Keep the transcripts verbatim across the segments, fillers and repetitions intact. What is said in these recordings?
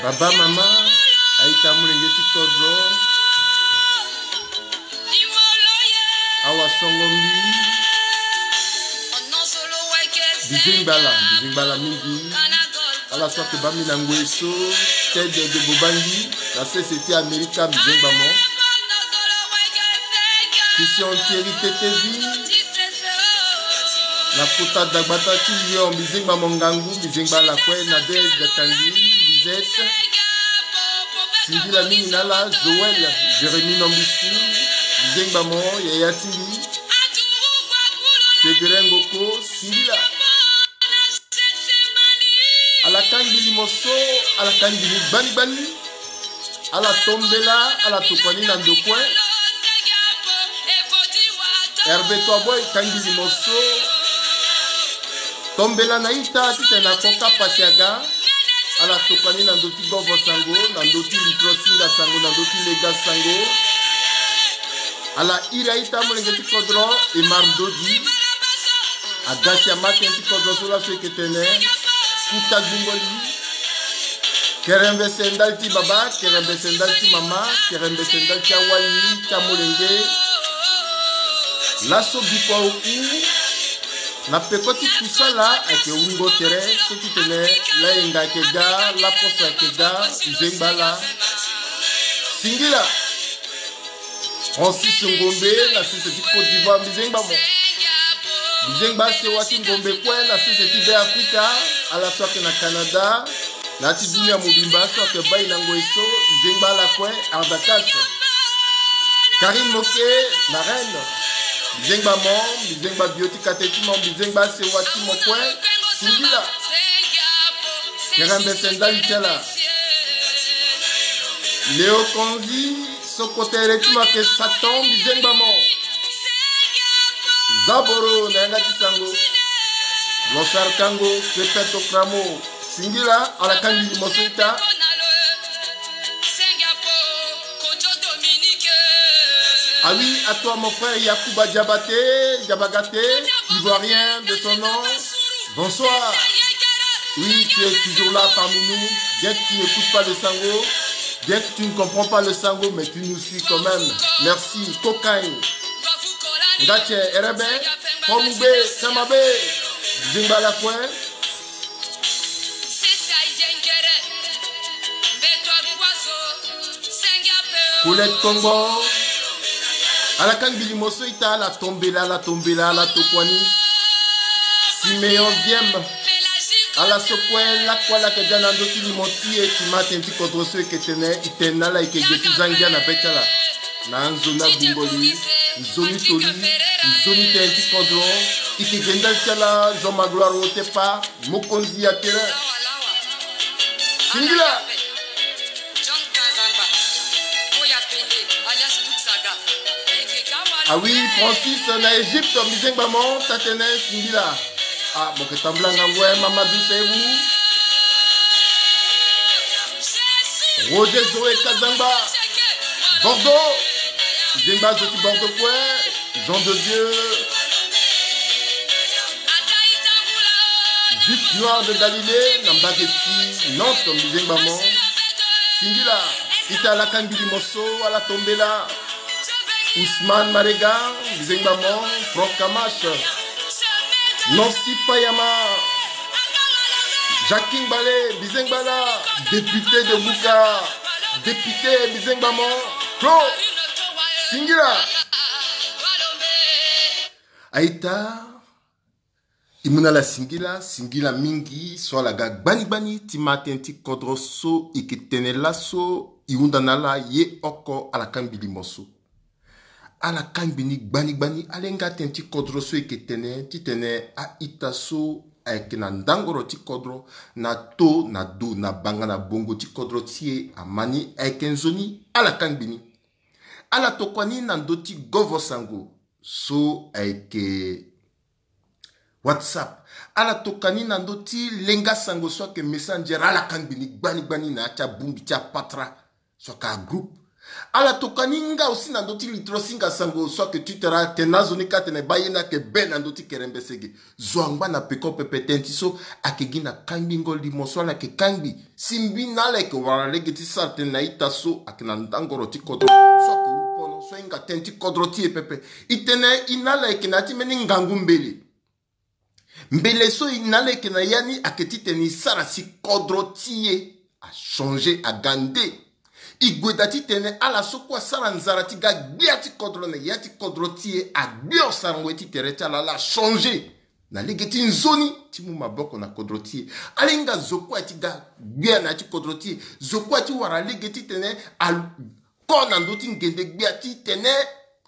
Baba, mama, a-ita, molenge ti kodro, awa songo mbi. Mbi zengba ala, mbi zengba ala mingi. Ala so ayeke baa mbi na ngoi so, Ted de Bobangi, na sese ti Amerika, mbi zengba mo. Christian Thierry Tetevi, na kota dagbata ti Lyon, mbi zengba mo ngangu, mbi zengba ala kue, Nadège Kangi, Lisette. Singila mingi na ala, Joël, Jérémie Nombisu, mbi zengba mo, yaya ti mbi. Sévérin Ngoko, singila. Ala kangbi limo so, ala kangbi ni gbani gbani. Ala tombela, ala tokua ni na ndo kue. Hervé Toiboy kangbi limo so. Tombela na ita titene ako kapa si aga. Ala tokua ni na ndo ti govo sango, na ndo ti litro singa sango, na ndo ti lega sango. Ala iri a-ita molenge ti kodro, Emar Ndodi. Aga si ama tënë ti kodro so laso e yeke tene. Kuta gbungo li. Kerembese ndali ti baba, kerembese ndali ti mama, kerembese ndali ti awali ti amolenge. Laso bikua oku na peko ti kusala ayeke wungo tere so titene layenga ayeke ga, laposo ayeke ga, mbi zengba ala. Singila. Francis Ngombe na sese ti Côte d'Ivoire, mbi zengba mo. Mbi zengba asewa ti Ngombe kue na sese ti Be Afrika, ala so ayeke na Canada, na ya ti dunia mobimba so ayeke baa e na ngoi so, mbi zengba ala kue, Ardakash. Karine Moke na Rennes, mbi zengba mo, mbi zengba bio ti kate ti mo, mbi zengba asewa ti mo kue, singila. Kerembese ndali ti ala. Léo Konzi, so kotere ti mo ayeke Satan, mbi zengba mo. Zaboro na yanga ti sango. Blanchard Kango, Kepeto Kramo, singila, ala kangbi limo so ita. Ah oui, à toi mon frère Yacouba Diabaté, Diabagaté, ivoirien de son nom. Bonsoir. Oui, tu es toujours là parmi nous. Bien que tu n'écoutes pas le sango, bien que tu ne comprends pas le sango, mais tu nous suis quand même. Merci. Cocaïne. Ngatche, Erebe, Formube, Samabe. Zingba la kue. Colette Kongo. Ala kangbi limo so ita, ala tombela, ala tombela, ala tokuani. Simeon Ziem. Ala so kue lakue ala yeke ga na ndö ti limo ti e, ti ma tënë ti kodro so e yeke tene, e tene na ala e yeke ge ti za ngia na be ti ala. Na nzoni agbungo li, nzoni toli, nzoni tënë ti kodro. E yeke ge ndali ti ala, Jean Magloire Otepa. Mokonzi ya terrain. Singila. Ah oui, Francis na Égypte, mbi zengba mo, tatene singila. Ah, mo yeke tambula ngangu, eh, Mamadou Seibou. Roger Zoé Kazangba. Bordeaux. Mbi zengba zo ti Bordeaux kue. Jean de Dieu. Juif noir de Galilée, na mbage ti Nantes, mbi zengba mo. Singila, ita ala kangbi limo so, ala tombela. Ousmane Marega, mbi zengba mo. Franck Kamash. Nancy Fayama. Jacqueline Bale, mbi zengba ala. Député de Bouka. Député, mbi zengba mo. Claude. Singila. Aita, e mu na ala singila, singila mingi, so ala ga gbani gbani, ti ma tënë ti kodro so e yeke tene laso, e hunda na ala ye oko, ala kangbi limo so. Ala kangbi ni gbani gbani, ala hinga tënë ti kodro so e yeke tene, titene a-ita so ayeke na ndangoro ti kodro, na to, na do, na banga, na bongo ti kodro ti e, ama ni ayeke nzoni, ala kangbi ni. Ala tokua ni na ndö ti govo sango. So ayeke WhatsApp. Ala tokua ni na ndö ti lenga sango so ayeke Messenger, ala kangbi ni gbani gbani na ya ti abongbi ti apatra so ayeke agroupe. Ala toka ni nga aussi na ndö ti litro singa sango so ayeke titene atene azo ni ka atene baa ye ni ayeke be na ndö ti kerembese ge. Zo angba na peko pepe. Tënë ti so ayeke gi na kangbingo limo so ala yeke kangbi. Si mbi na ala yeke wara lege ti sara tënë na ita so ayeke na ndangoro ti kodro so ayeke wu pono so ahinga tënë ti kodro ti e pepe. E tene e na ala yeke na ya ti mbeni ngangu mbele. Mbele so e na ala yeke na ya ni ayeke titene e sara si kodro ti e achangé aga nde. E gue daa titene ala so kue asara nzara ti ga gbia ti kodro na ya ti kodro ti e, agbio sarango ye ti tere ti ala, ala achangé na lege ti nzoni ti mu maboko na kodro ti e. Ala hinga zo kue ti ga gbia na ya ti kodro ti e, zo kue ti wara lege titene a ko na ndö ti ngende gbia titene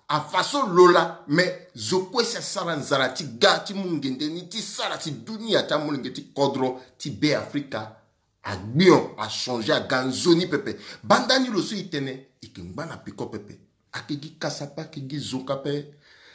afa so lo laa. Me zo kue si asara nzara ti ga ti mu ngende ni ti sara si dunia ti amolenge ti kodro ti Be Afrika agbion, achangé, aga nzoni pepe. Banda ni lo so e tene e yeke ngba na peko pepe. Ayeke gi kasa pe, ayeke gi zoka pe,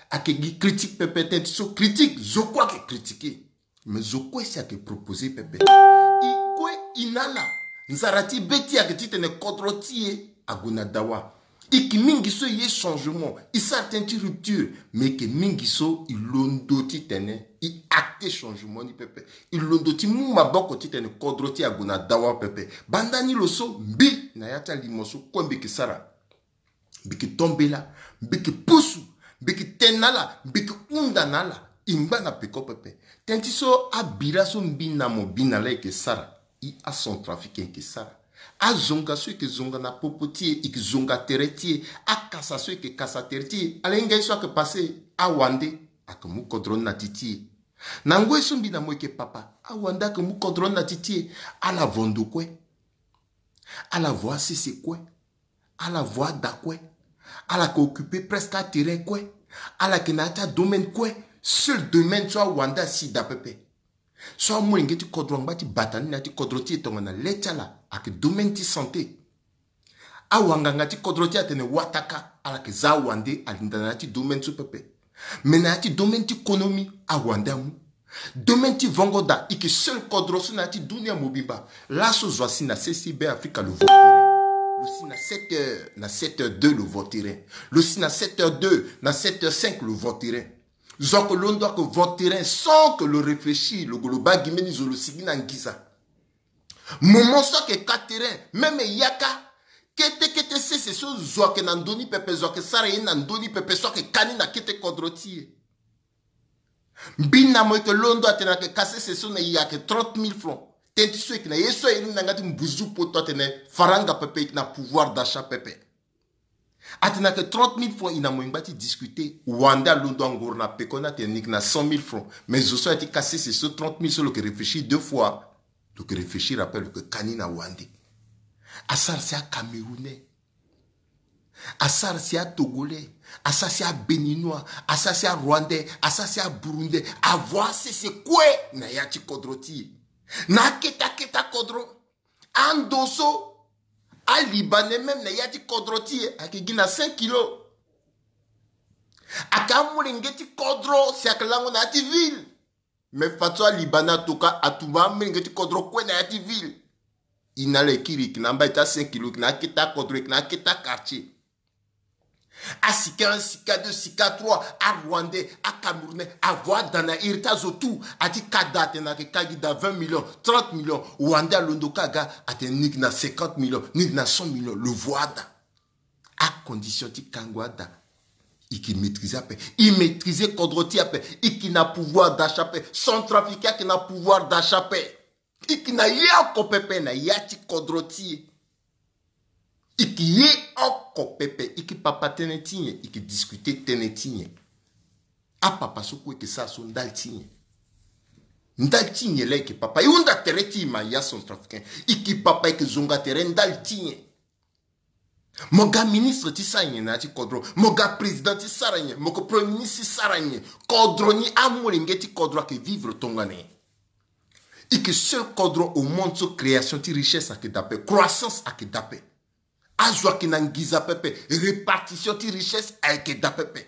ayeke gi critique pepe. Tënë ti so critique, zo kue ayeke critiqué. Mais zo kue si ayeke proposé pepe. E kue e na ala, nzara ti be ti e ayeke titene kodro ti e ague na dawa. E yeke mingi so e ye changement, e sara tënë ti rupture. Mais e yeke mingi so e londo titene e acté changement ni pepe. E londo ti mu maboko titene kodro ti e ague na dawa pepe. Banda ni lo so mbi na ya ti alimo so kue mbi yeke sara, mbi yeke tombela, mbi yeke pusu, mbi yeke tene na ala, mbi yeke hunda na ala. E ngba na peko pepe. Tënë ti so abira so mbi na mo bi na ala e yeke sara, e acentrafricain e yeke sara. Azonga so e yeke zonga na popo ti e, e yeke zonga tere ti e. Akasa so e yeke kasa tere ti e. Ala hinga ye so ayeke passé, awande ayeke mu kodro ni na ti ti e. Na ngoi so mbi na mo e yeke papa, awande ayeke mu kodro ni na ti ti e. Ala vo ndo kue. Ala vo asese kue. Ala vo ada kue. Ala yeke occupé presque aterrain kue. Ala yeke na ya ti adomaine kue. Seul domaine so awande asi daa pepe, so amolenge ti kodro angba ti bata ni na ya ti kodro ti e tongana le ti ala ayeke domaine ti santé. Awanganga ti kodro ti e atene wataka, ala yeke za awande alinda na ya ti domaine so pepe. Mais na ya ti domaine ti konomi, awande amu. Domaine ti vongo daa, e yeke seul kodro so na ya ti dunia mobimba. Laso zo asi na sese Be Afrika, lo vo terrain. Lo si na sept heures, na sept heures deux lo vo terrain. Lo si na sept heures deux, na sept heures cinq lo vo terrain. Zo ayeke londo ayeke vo terrain sans que lo réfléchir, lo gue lo baa gi mbeni zo lo sigi na nginza. Moment so ayeke ka terrain, même yaka, kete kete sese so zo ayeke na ndö ni pepe, zo ayeke sara ye na ndö ni pepe, so ayeke ka ni na kete kodro ti e. Mbi na mo e yeke londo atene ayeke ka sese so na e ayeke trente mille francs. Tënë ti so e yeke na ye so airi ni na yanga ti mbuzu poto atene faranga pepe e yeke na pouvoir d'achat pepe. Atene ayeke trente mille francs, e na mo e ngba ti discuter. Wande alondo angoro na peko ni atene ni yeke na cent mille francs. Mais zo so aye ti ka sese so trente mille so lo yeke réfléchir deux fois. Lo yeke réfléchir après, lo yeke ka ni na wande. Asara si aCamerounais, asara si aTogolais, asara si aBéninois, asara si aRwandais, asara si aBurundais, avo asese kue na ya ti kodro ti e. Na akete akete akodro. Ando so aLibanais même na ya ti kodro ti e ayeke gi na cinq kilos. Ayeke amolenge ti kodro si ayeke lango na ya ti ville. Mais fadeso aLibanais atoka atumba amolenge ti kodro kue na ya ti ville. E na ala e kiri, e yeke na amba ti acinq kilos, e yeke na akete akodro, e yeke na akete aquartier. Asika un, sika deux, sika trois, aRwandais, aCamerounais, avo ada na iri ti azo tout. Aye ti ka da atene ayeke ka gi da vingt millions, trente millions. Wande alondo ka aga atene ni yeke na cinquante millions, ni yeke na cent millions. Lo vo ada. Acondition ti kango ada, e yeke maîtriser ape. E maîtriser kodro ti e ape. E yeke na pouvoir d'achat ape. Centrafricain ayeke na pouvoir d'achat ape. E yeke na ye oko pepe na ya ti kodro ti e. E yeke ye oko pepe. E yeke papa tënë ti nyen? E yeke discuter tënë ti nyen? Apapa so kue e yeke sara so ndali ti nyen? Ndali ti nyen laa e yeke papa? E hunda tere ti e ma ya centrafricain. E yeke papa, e yeke zonga tere ndali ti nyen? Mo ga ministre ti sara nyen na ya ti kodro? Mo ga président ti sara nyen? Mo ga premier ministre ti sara nyen? Kodro ni, amolenge ti kodro ayeke vivre tongana nyen? E yeke seul kodro au monde so création ti richesse ayeke daa ape, croissance ayeke daa ape. Azo ayeke na nginza pepe, répartition ti richesse ayeke daa pepe.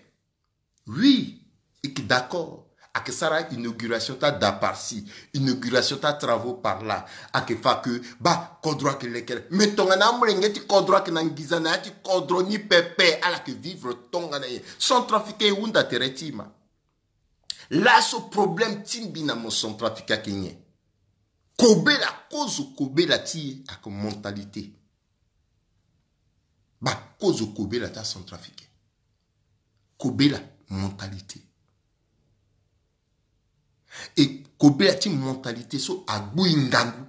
Oui, e yeke d'accord. Ayeke sara inauguration ti adaparsi, inauguration ti atravaux par là. Ayeke fa ke baa kodro ayeke lekere. Me tongana amolenge ti kodro ayeke na nginza na ya ti kodro ni pepe, ala yeke vivre tongana nyen? Centrafricain e hunda tere ti e ma. Laso problème ti mbi na mo centrafricain ayeke nyen? Kobela, kozo kobela ti e ayeke mentalité. Baa, kozo kobela ti acentrafricain. Kobela, mentalité. E kobela ti mentalité so agbu e ngangu.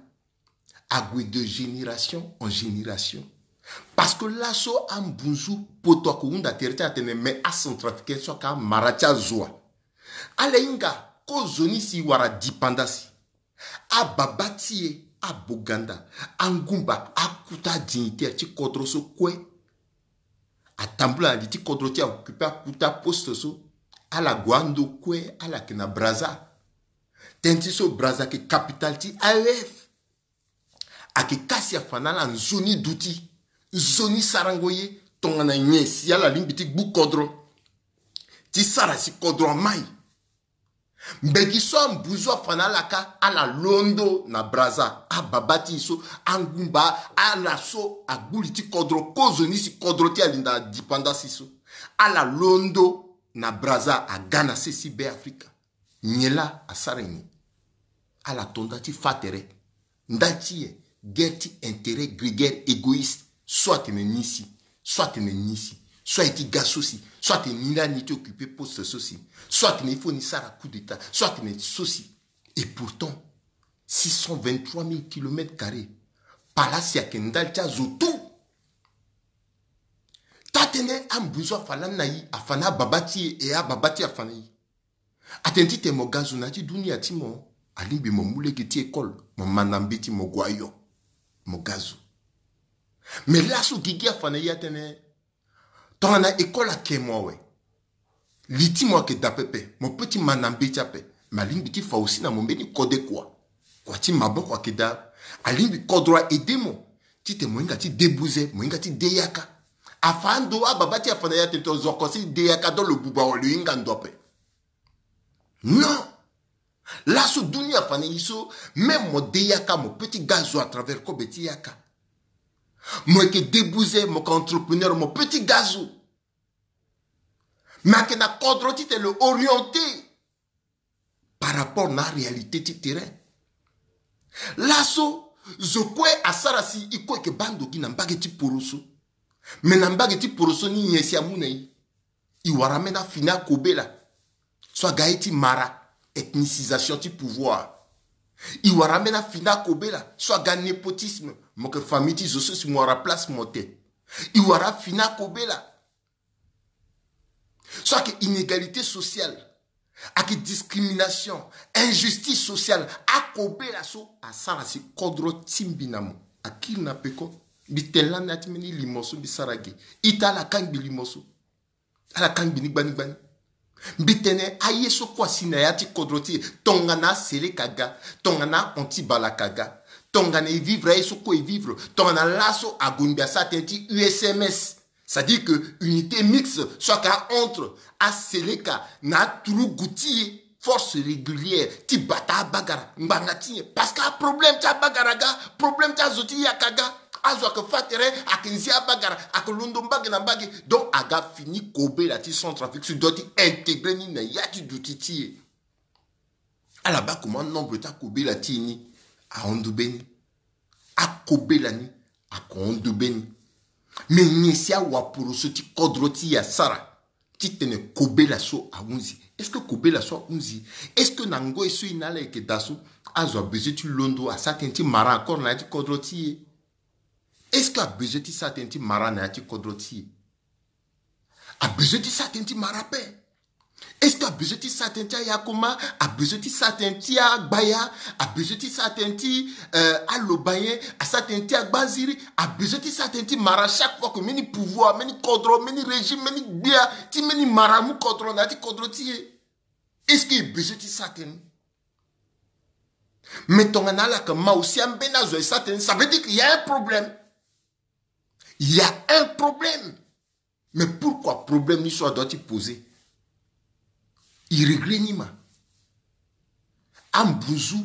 Ague de génération en génération. Parce que laso ambunzu poto ayeke hunda tere ti atene me acentrafricain so ayeke amara ti azo wa. Ala hinga kozoni si e wara dipanda si. Ababa ti e, aboganda, angumba, akuta adignitaire ti kodro so kue. Atambula na li ti kodro ti e, aoccupé akuta poste so. Ala gue ando kue, ala yeke na Brazza. Tënë ti so Brazza ayeke capitale ti A E S. Ayeke kasi afa na ala nzoni duti, nzoni sarango ye, tongana nyen si ala lingbi ti gbu kodro, ti sara si kodro amai. Mbeti so ambunzu afa na ala kâ, ala londo na Brazza, ababa ti e so, angumba, ala so agbu li ti kodro, kozoni si kodro ti e ali na dipanda si so. Ala londo na Brazza, aga na sese Be Afrika. Nyen laa asara nyen? Ala to nda ti fâ tere. Nda ti e, guerre ti intérêt grégaire égoïste. So atene ni si, so atene ni si, so aye ti ga so si, so atene ni laa ni ti occupé poste so si, so atene il faut ni sara coup d'état, so atene so si. Et pourtant, six cent vingt-trois mille kilomètres carrés. Pala si ayeke ndali ti azo tout. Taa-tënë ambunzu afa lani na e, afa na ababa ti e, e ababa ti e afa na e. Atene titene mo ga zo na ya ti dunia ti mo, alingbi mo mu lege ti école, mo ma na mbeti, mo gue ayo, mo ga zo. Me laso gigi afa na e atene, tongana école ayeke mo awe, li ti mo ayeke daa pepe, mo peut ti ma na mbeti ape, me alingbi ti fa aussi na mo mbeni kode kua. Kua ti maboko ayeke daa. Alingbi kodro a-aider mo titene mo hinga ti debuze, mo hinga ti de yaka. Afa ando, ababa ti e afa na e atene tongana zo oko si de yaka, donc lo buba awe, lo hinga ndo ape. Non. Laso dunia afa na e so, même mo de yaka, mo peut ti ga zo à travers kobe ti yaka. Mo yeke debuze, mo yeke entrepreneur, mo peut ti ga zo. Me ayeke na kodro titene lo orienté par rapport na aréalité ti terrain. Laso zo kue asara si e kue yeke baa ndo gi na mbage ti poroso. Me na mbage ti poroso ni, nyen si amu na e? E wara ambeni afini akobela so aga ye ti mara, ethnicisation ti pouvoir. E wara ambeni afini akobela so aga népotisme, mo yeke famille ti zo so si mo wara place mo te. E wara afini akobela so ayeke inégalité sociale, ayeke discrimination, injustice sociale. Akobela so asara si kodro ti mbi na mo akiri na peko. Mbi tene lani na ya ti mbeni limo so mbi sara ge. Ita ala kangbi limo so. Ala kangbi ni gbani gbani. Mbi tene aye so kue asi na ya ti kodro ti e, tongana aseleka aga, tongana antibalaka aga, tongana e vivre aye so kue e vivre, tongana laso ague ngbi asara tënë ti U S M S. C'est-à-dire que unité mixte so ayeke entre aseleka na aturugu ti e, force régulière ti bata abagara ngbanga ti nyen? Parce que aproblème ti abagara aga, problème ti azo ti yaka aga. Azo ayeke fâ tere, ayeke nzi abagara, ayeke londo mbage na mbage. Donc aga fini kobela ti Centrafrique so doit ti intégrer ni na ya ti duti ti e. Ala baa comment nombre ti akobela ti e ni ahon ndo be ni. Akobela ni ayeke hon ndo be ni. Me nyen si awaporoso ti kodro ti e asara titene kobela so ahunzi? Est-ce que kobela so ahunzi? Est-ce que na ngoi so e na ala yeke daa so, azo abezoin ti londo asara tënë ti mara encore na ya ti kodro ti e? Est-ce que abezoin ti sara tënë ti mara na ya ti kodro ti e? Abezoin ti sara tënë ti mara ape. Est-ce que abezoin ti sara tënë ti ayakoma? Abezoin ti sara tënë ti agbaya? Abezoin ti sara tënë ti, euh, aloba nyen? Asara tënë ti agbanziri? Abezoin ti sara tënë ti mara chaque fois que mbeni pouvoir, mbeni kodro, mbeni régime, mbeni gbia ti mbeni mara amu kodro na ya ti kodro ti e? Est-ce que e bezoin ti sara tënë? Mais tongana ala yeke ma aussi ambeni azo e sara tënë, ça veut dire qu'il y a un problème. Il y a un problème. Mais pourquoi problème ni so adoit ti poser? E régler ni ma. Ambunzu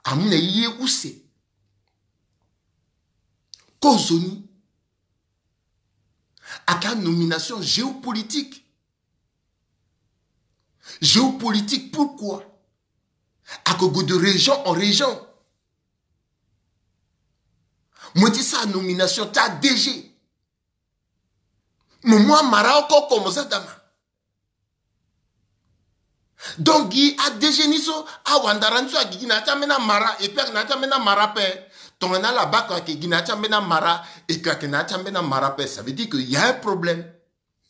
amu na ye use. Kozoni ake anomination géopolitique. Géopolitique, pourquoi? Ake gue de région en région. Mo ye ti sara nomination ti a D G. Mo mu amara oko oko mo za dama. Donc gi a D G ni so, awandara ni so agi gi na ya ti ambeni amara, et puis ake na ya ti ambeni amara ape. Tongana ala baa ko ake gi na ya ti ambeni amara, et que ake na ya ti ambeni amara ape, ça veut dire que y a un problème.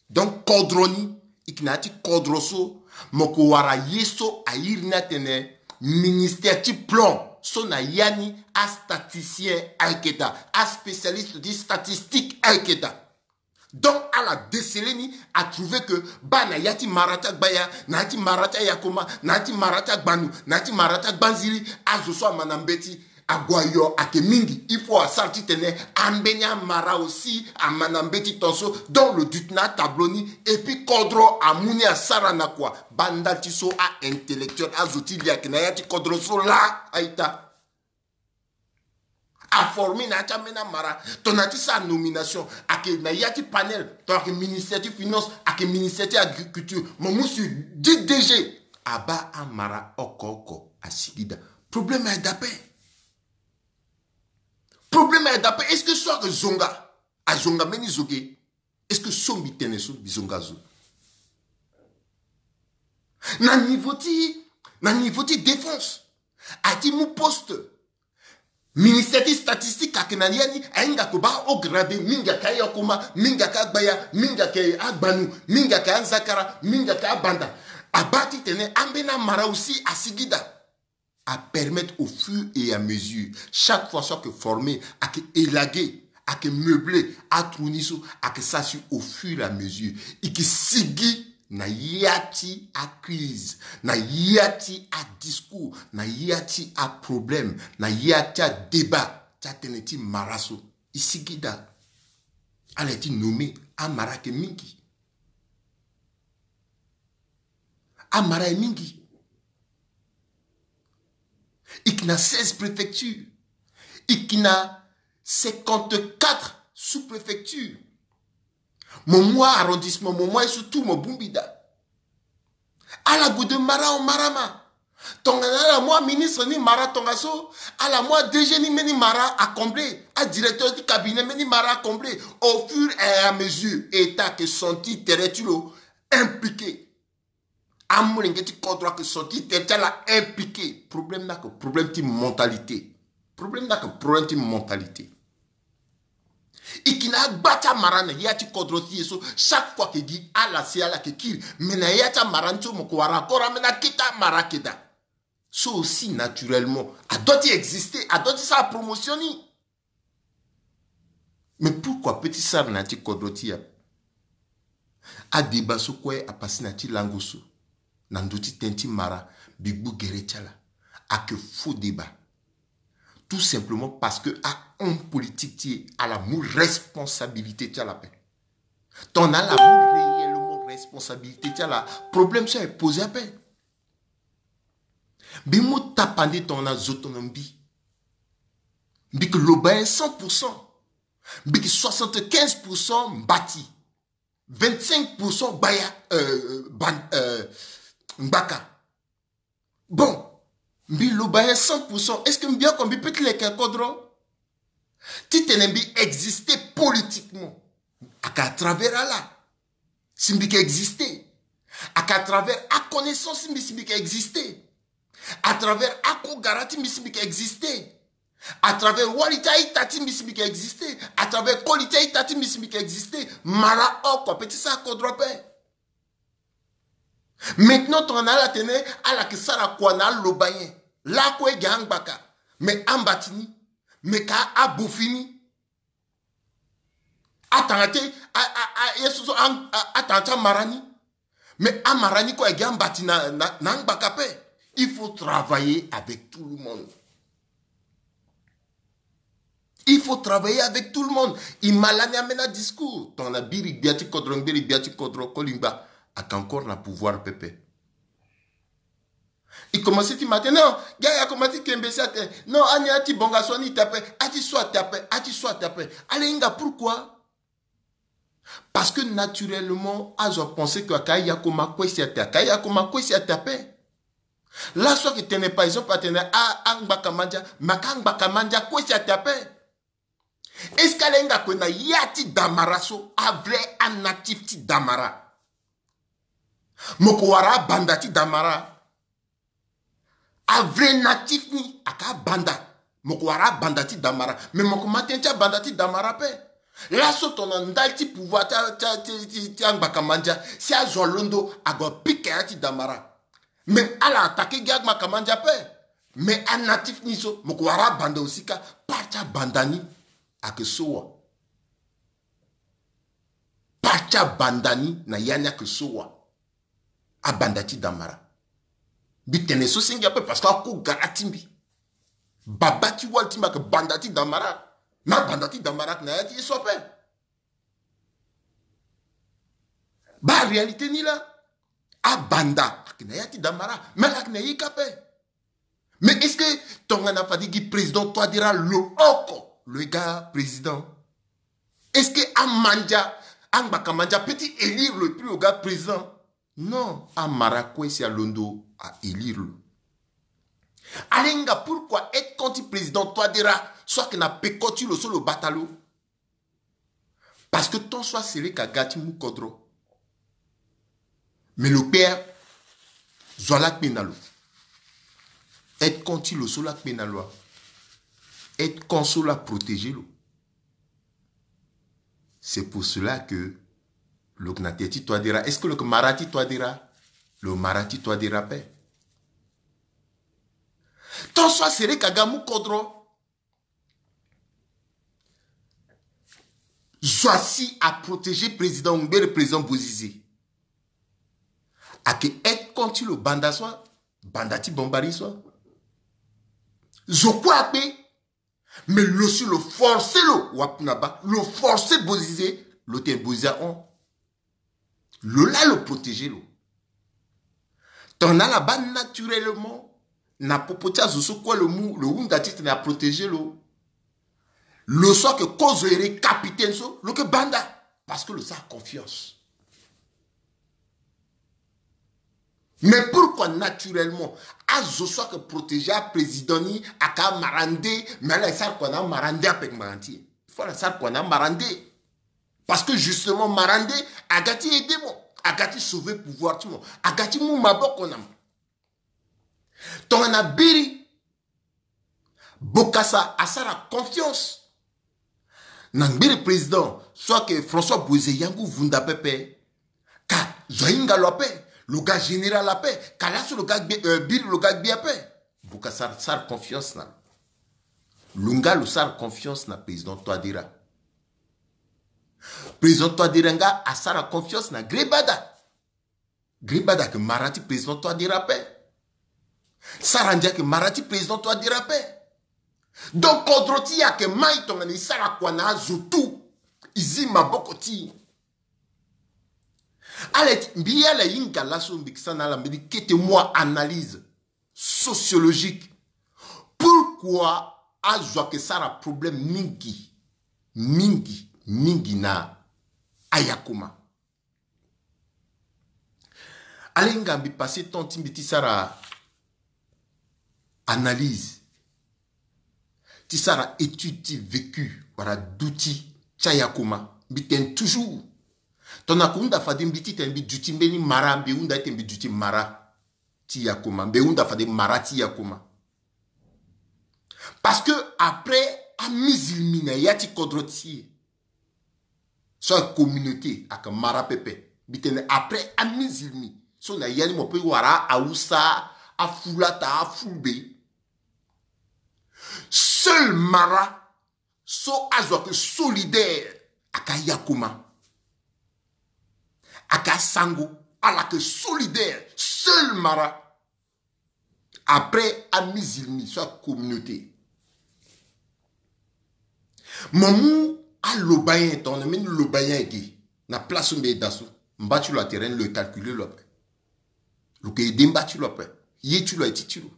Donc kodro ni, e yeke na ya ti kodro so, mo ko wara ye so a iri ni atene ministère ti plan, so na ya ni astatisticien ayeke daa, aspécialiste ti statistique ayeke daa. Donc ala déceler ni, a trouver que baa na ya ti mara ti Agbaya, na ya ti mara ti Ayakoma, na ya ti mara ti Agbanu, na ya ti mara ti Agbanziri, azo so ama na mbeti, ague ayo ake mingi. Il faut asara titene ambeni amara aussi ama na mbeti tongaso. Donc lo duti na atableau ni, et puis kodro amu ni asara na kua. Baa ndali ti so a-intellectuel, azo ti li ake na ya ti kodro so laa, a-ita. Aformer na ya ti ambeni amara. Tongana ti sara nomination, ake na ya ti panel, tongana ake ministère ti finance, ake ministère ti agriculture, mo mu sur dix D G. Abaa amara oko oko, asigi daa. Problème ayeke daa ape. Problème ayeke daa ape. Est-ce que so ake zonga, azonga mbeni zo ge? Est-ce que so mbi tene so mbi zonga zo? Na niveau ti, na niveau ti défense, a ti mu poste. Ministère ti statistique ake na ya ni, ahinga ko baa haut gradé, mingi ake Ayakoma, mingi ake Agbaya, mingi ake Agbanu, mingi ake Anzakara, mingi ake Abanda. Abaa titene ambeni amara aussi asigi daa. Apermettre au fur et à mesure, chaque fois so ake former, ake élaguer, ake meubler atrou ni so, ake sara si au fur et à mesure e ke sigi na ya ti acrise, na ya ti adiscours, na ya ti aproblème, na ya ti adébat ti atënë ti mara so. E sigi daa. Ala ye ti nommer, amara ayeke mingi. Amara ayeke mingi. E yeke na seize préfectures. E yeke na cinquante-quatre sous-préfectures. Mo mu arrondissement, mo mu aye so tout, mo bongbi daa. Ala gue de mara en mara ma. Tongana ala mu aministre ni mara tongaso, ala mu a-D G ni mbeni mara acombler, adirecteur ti cabinet mbeni mara acombler. Au fur et à mesure, État ake senti tere ti lo impliqué. Amolenge ti kodro ake senti tere ti ala impliqué. Problème ni ake problème ti mentalité. Problème ni ake problème ti mentalité. E yeke na agba ti amara na ya ti kodro ti e so, chaque fois ake gi ala si ala ake kiri. Mais na ya ti amara ni so mo ko wara encore ambeni akete amara ake daa. So aussi naturellement adoit ti exister, adoit ti sara promotion ni. Mais pourquoi pe ti sara na ya ti kodro ti e ape? Adébat so kue apasé na ya ti lango so, na ndö ti tënë ti mara, mbi gbu gere ti ala. Ake faux débat. Tout simplement parce que ahomme politique ti e ala mu responsabilité ti ala ape. Tongana ala mu réellement responsabilité ti ala, problème so aye posé ape. Mbi mu tapande tongana zo tongana mbi. Mbi yeke lobayen cent pour cent. Mbi yeke soixante-quinze pour cent mbati. Vingt-cinq pour cent gbaya, euh, ban-, euh, ngbaka. Bon, mbi lobayen cent pour cent. Est-ce que mbi oko mbi pe ti leke kodro? Titene mbi exister politiquement, ake à travers ala si mbi yeke exister. Ake à travers aconnaissance ti mbi si mbi yeke exister. À travers akogara ti mbi si mbi yeke exister. À travers wali ti a-ita ti mbi si mbi yeke exister. À travers koli ti a-ita ti mbi si mbi yeke exister. Mara oko ape ti sara kodro ape. Maintenant tongana ala tene ala yeke sara kua na alobayen, lakue gi angbaka, me ambati ni, me ka abofi ni. Atanga ti a, a, a, ye so so a, a, atanga ti amara ni. Mais amara ni kue agi ambati na, na, na angbaka ape. Il faut travailler avec tout le monde. Il faut travailler avec tout le monde. E ma lani ambeni adiscours. Tongana biri gbia ti kodro, mbiri gbia ti kodro, kolingba ake encore na pouvoir pepe. E commencé ti ma tene, non, gi ayakoma ti kembe si atene, non, ani ati bonga so ani ita ape, ati so ata ape, ati so ata ape. Ala hinga pourquoi? Parce que naturellement azo apensé que aka yakoma kue si ata, aka yakoma kue si ata ape. Laso ake tene par exemple atene a, angbaka mandia, mais aka angbaka mandia kue si ata ape. Est-ce que ala hinga kue na ya ti Damara so, avrai anatif ti Damara? Mo ko wara abanda ti Damara. Avrai natif ni aka abanda. Mo ko wara abanda ti Damara. Mais mo ko ma tene ti abanda ti Damara ape. Laso tongana ndali ti pouvoir ti, ti, ti, ti, ti angbaka mandia, si azo alondo ague apika ya ti Damara. Mais ala attaqué gi angbaka mandia ape. Mais anatif ni so mo ko wara abanda aussi ka. Part ti abanda ni ake so wa. Part ti abanda ni na ya ni ake so wa. Abanda ti Damara. Mbi tene so senge ape parce que ako gara ti mbi. Baba ti wali ti mbi ake banda ti Damara. Na abanda ti Damara ake na ya ti ye so ape. Baa réalité ni laa. Abanda ake na ya ti Damara, mais ala ake na ye ka ape. Mais est-ce que tongana fade gi président Touadéra lo oko lo ye ga président? Est-ce que amandia, angbaka mandia peut ti élire lo et puis lo ga président? Non, amara kue si alondo a élire lo. Ala hinga pourquoi être contre président Touadéra so ake na peko ti lo so lo bata lo? Parce que tant soit seré ka ga ti mu kodro. Mais lo kpe, zo ala kpe na lo. Être contre ti lo so la kpe na lo. Être contre so la protéger lo. C'est pour cela que lo ke na terê ti Touadéra. Est-ce que lo ke mara ti Touadéra? Lo mara ti Touadéra ape. Tant soit seré ka ga mu kodro. Zo asi a protéger président, ngbere président Bozizé. Ake être contre ti lo banda so, banda ti Bambari so. Zo kue akpe. Mais lo si lo forcé lo, wapuna baa, lo forcé Bozizé, lo tene Bozizé ahon. Lo laa lo protéger lo. Tongana ala baa naturellement na popo ti azo so kue lo mu, lo hunda titene a protéger lo. Lo so ake kozo ere capitaine so, lo ke banda. Parce que lo sara confiance. Mais pourquoi naturellement azo so ake protéger aprésident ni aka amara nde, mais ala e sara kua na amara nde ape ngbanga ti e? Il faut ala sara kua na amara nde. Parce que justement mara nde aga ti aider mo, aga ti sauver pouvoir ti mo, aga ti mu maboko na mo. Tongana biri Bokassa asara confiance na ngbiri président so ake François Bozizé, yangu vunda pepe. Ka zo ahinga lo ape, lo ga général ape, ka laso lo ga gbe, euh, biri lo ga gbe ape. Bokassa sara confiance na lo. Lo nga lo sara confiance na président Touadéra. Président Touadéra nga asara confiance na Grebada. Grebada ake mara ti président Touadéra ape. Sarandji ake mara ti président Touadéra ape. Donc kodro ti e ake mai tongana e sara kua na azo tout. E zi maboko ti e. Ala ti mbi ala hinga laso mbi ke sara na ala mbeni kete mua analyse sociologique. Pourquoi azo ake sara problème mingi, mingi, mingi na ayakoma? Ala hinga mbi passer temps ti mbi ti sara analyse, ti sara étude ti vécu wala duti ti ayakoma. Mbi tene toujours, tongana ko hunda fade mbi titene mbi duti mbeni mara, mbi hunda ete mbi duti mara ti yakoma, mbi hunda fade mara ti yakoma. Parce que après amizilmi na ya ti kodro ti e, so a communauté aka mara pepe. Mbi tene après amizilmi so na ya ni mo pe wara Hausa, Afulata, Afulbe. Seul mara so azo ake solidaire aka yakoma. Aka sango, ala ake solidaire, seul mara. Après amizilmi so a communauté. Mo mu aloba nyen, tongana mbeni loba nyen ake na place so mbi ye daa so, mba ti lo atere ni lo e calculer lo ape. Lo ke aide mba ti lo ape. Ye ti lo aye ti ti lo.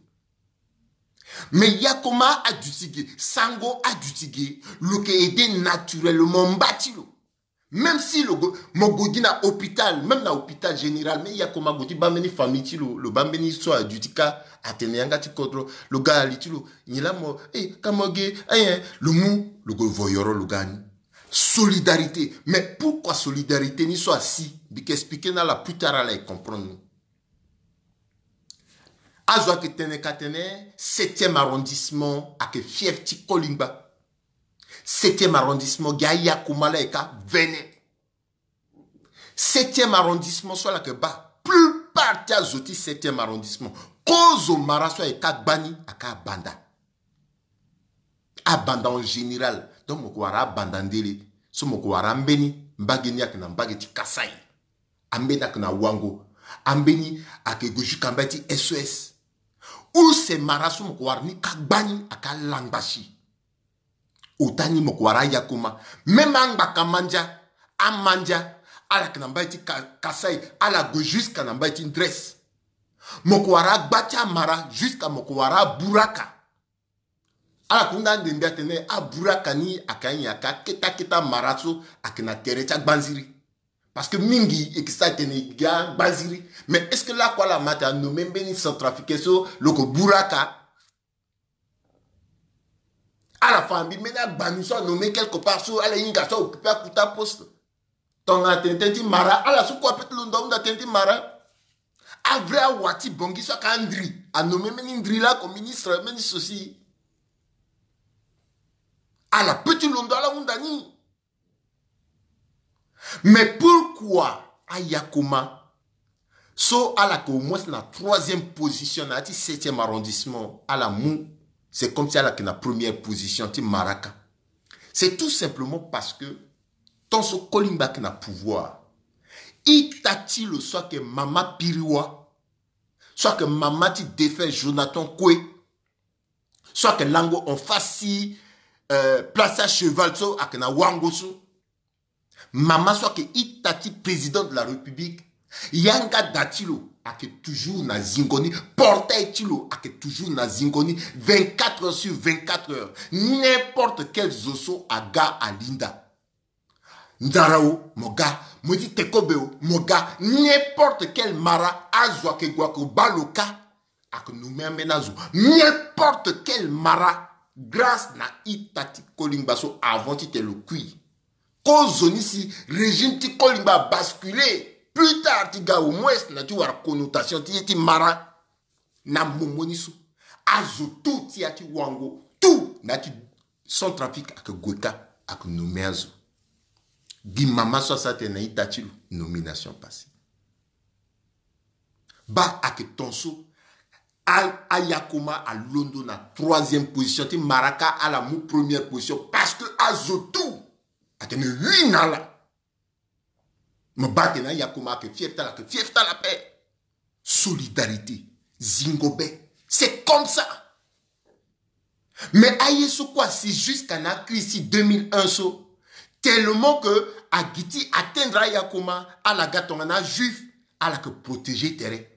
Mais Yakoma aduti ge, Sango aduti ge, lo yeke aidé naturellement mba ti lo. Même si lo go, mo gue gi na hôpital, même na hôpital général, même Yakoma ague ti baa mbeni famille ti lo, lo baa mbeni so aduti kâ, atene yanga ti kodro, lo ga ali ti lo, nyen laa mo, eh, ka mo ge, eh, eh, lo mu, lo gue voyoro, lo ga ni. Solidarité. Mais pourquoi solidarité ni so asi? Mbi yeke expliqué na ala plus tard, ala e comprendre ni. Azo ayeke tene ka atene septième arrondissement ayeke fief ti Kolingba. Septième arrondissement, gi Ayakoma laa e ka vene. Septième arrondissement so ala yeke baa, plupart ti azo ti septième arrondissement, kozo mara so aye ka gbani aka abanda. Abanda en général. Donc mo yeke wara abanda ndele. So mo yeke wara ambeni, mbage ni ayeke na mbage ti Kasaï. Ambeni ayeke na Wango. Ambeni ayeke gue jusqu'à mbage ti S O S. Use mara so mo yeke wara ni ka gbani aka langba si. Ota ni mo yeke wara Yakoma. Même angbaka mandia, amandia, ala yeke na mbage ti Ka-, Kasaï, ala gue jusqu'à na mbage ti Ndres. Mo yeke wara agba ti amara, jusqu'à mo yeke wara aburaka. Ala yeke hunda ande mbi atene aburaka ni ayeke anyen, ayeke akete akete amara so ayeke na tere ti agbanziri. Parce que mingi e yeke sara tene e ga agbanziri. Mais est-ce que lakue ala ma tene a nommé mbeni centrafricain so lo yeke buraka? Ala fa mbi mbeni agbani so a nommé quelque part so ala hinga so a occupé akuta poste. Tongana atene tënë ti mara, ala so kue ape ti londo ahunda tënë ti mara. Avrai awa ti Bangui so ayeke andri, a nommé mbeni ndri laa oko ministre, mbeni sosi. Ala pe ti londo ala hunda ni. Mais pourquoi Ayakoma so ala yeke au moins na troisième position na ya ti septième arrondissement, ala mu, c'est comme si ala yeke na première position ti mara kâ? C'est tout simplement parce que tant so Kolingba ayeke na pouvoir, ita ti lo so ayeke mama Piriwa, so ayeke mama ti défunt Jonathan Koué, so ayeke lango en face ti, euh, place à cheval so ayeke na Wango so. Mama so ayeke ita ti président de la République, yanga da ti lo ayeke toujours na zingo ni. Portail ti lo ayeke toujours na zingo ni, vingt-quatre heures sur vingt-quatre heures. N'importe quel zo so aga alinda. Nzara o, mo ga. Mo ye ti tekobe o, mo ga. N'importe quel mara, azo ayeke gue ayeke baa lo kâ, ayeke nommé ambeni azo. N'importe quel mara, grâce na ita ti Kolingba so, avant ti tene lo kui. Kozoni si régime ti Kolingba abasculé plus tard ti ga au moins na ti wara connotation ti ye ti mara. Na momo ni so, azo tout ti ya ti Wango, tout na ya ti Centrafrique ayeke gue kâ, ayeke nommé azo. Gi mama so asara tene na ita ti lo, nomination passée. Baa ayeke ton so, a, Ayakoma alondo na troisième position ti mara kâ, ala mu première position parce que azo tout atene oui na ala. Mo baa atene Ayakoma ayeke fief ti ala, ayeke fief ti ala ape. Solidarité, zingo be. C'est comme ça. Mais aye so kue asi jusqu'à na akiri ti deux mille un so, tellement que agi ti atteindre Ayakoma, ala ga tongana ajuif, ala yeke protéger tere.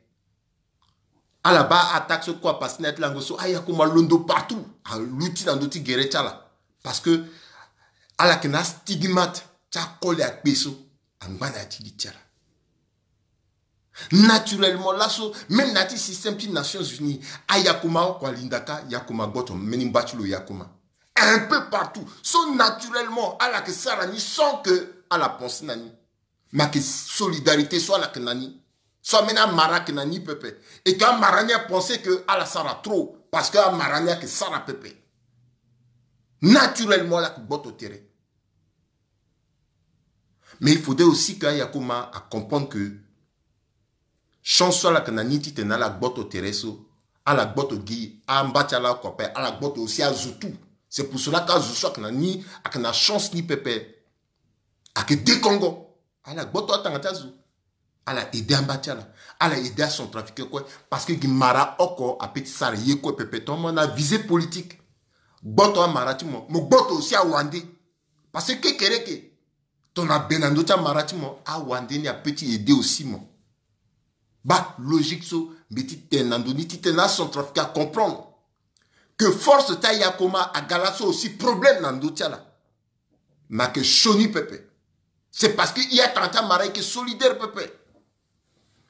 Ala baa attaque so kue apasé na ya ti lango so, Ayakoma alondo partout, aluti na ndö ti gere ti ala. Parce que ala yeke na astigmate ti akole akpe so angba na ya ti li ti ala. Naturellement laso, même na ya ti système ti Nations Unies, Ayakoma oko alinda kâ, Yakoma gboto mbeni mba ti lo Yakoma. Un peu partout. So naturellement ala yeke sara ni sans que ala pensé na ni. Mais ayeke solidarité so ala yeke na ni, so ambeni amara ayeke na ni pepe. Et que amara ni apensé que ala sara trop, parce que amara ni ayeke sara pepe. Naturellement ala yeke gboto tere. Mais il faudrait aussi que Ayakoma acomprendre que chance so ala yeke na ni titene ala gboto tere so, ala gboto gi amba ti ala oko ape, ala gboto aussi azo tout. C'est pour cela que azo so ayeke na ni ayeke na chance ni pepe. Ayeke dekongo. Ala gboto atanga ti azo. Ala aidé amba ti ala. Ala aidé acentrafricain kue. Parce que gi mara oko ape ti sara ye kue pepe. Tongana mo na visée politique, gboto amara ti mo, mo gboto aussi awande. Parce que kekereke, tongana abe na ndö ti amara ti mo, awande ni ape ti aidé aussi mo. Baa logique so Mbi ti tene na ndö ni ti tene acentrafricain acomprendre que force ti ayakoma aga laso aussi problème na ndö ti ala. Mais ayeke sioni pepe. C'est parce que e atanga ti amara ayeke solidaire pepe.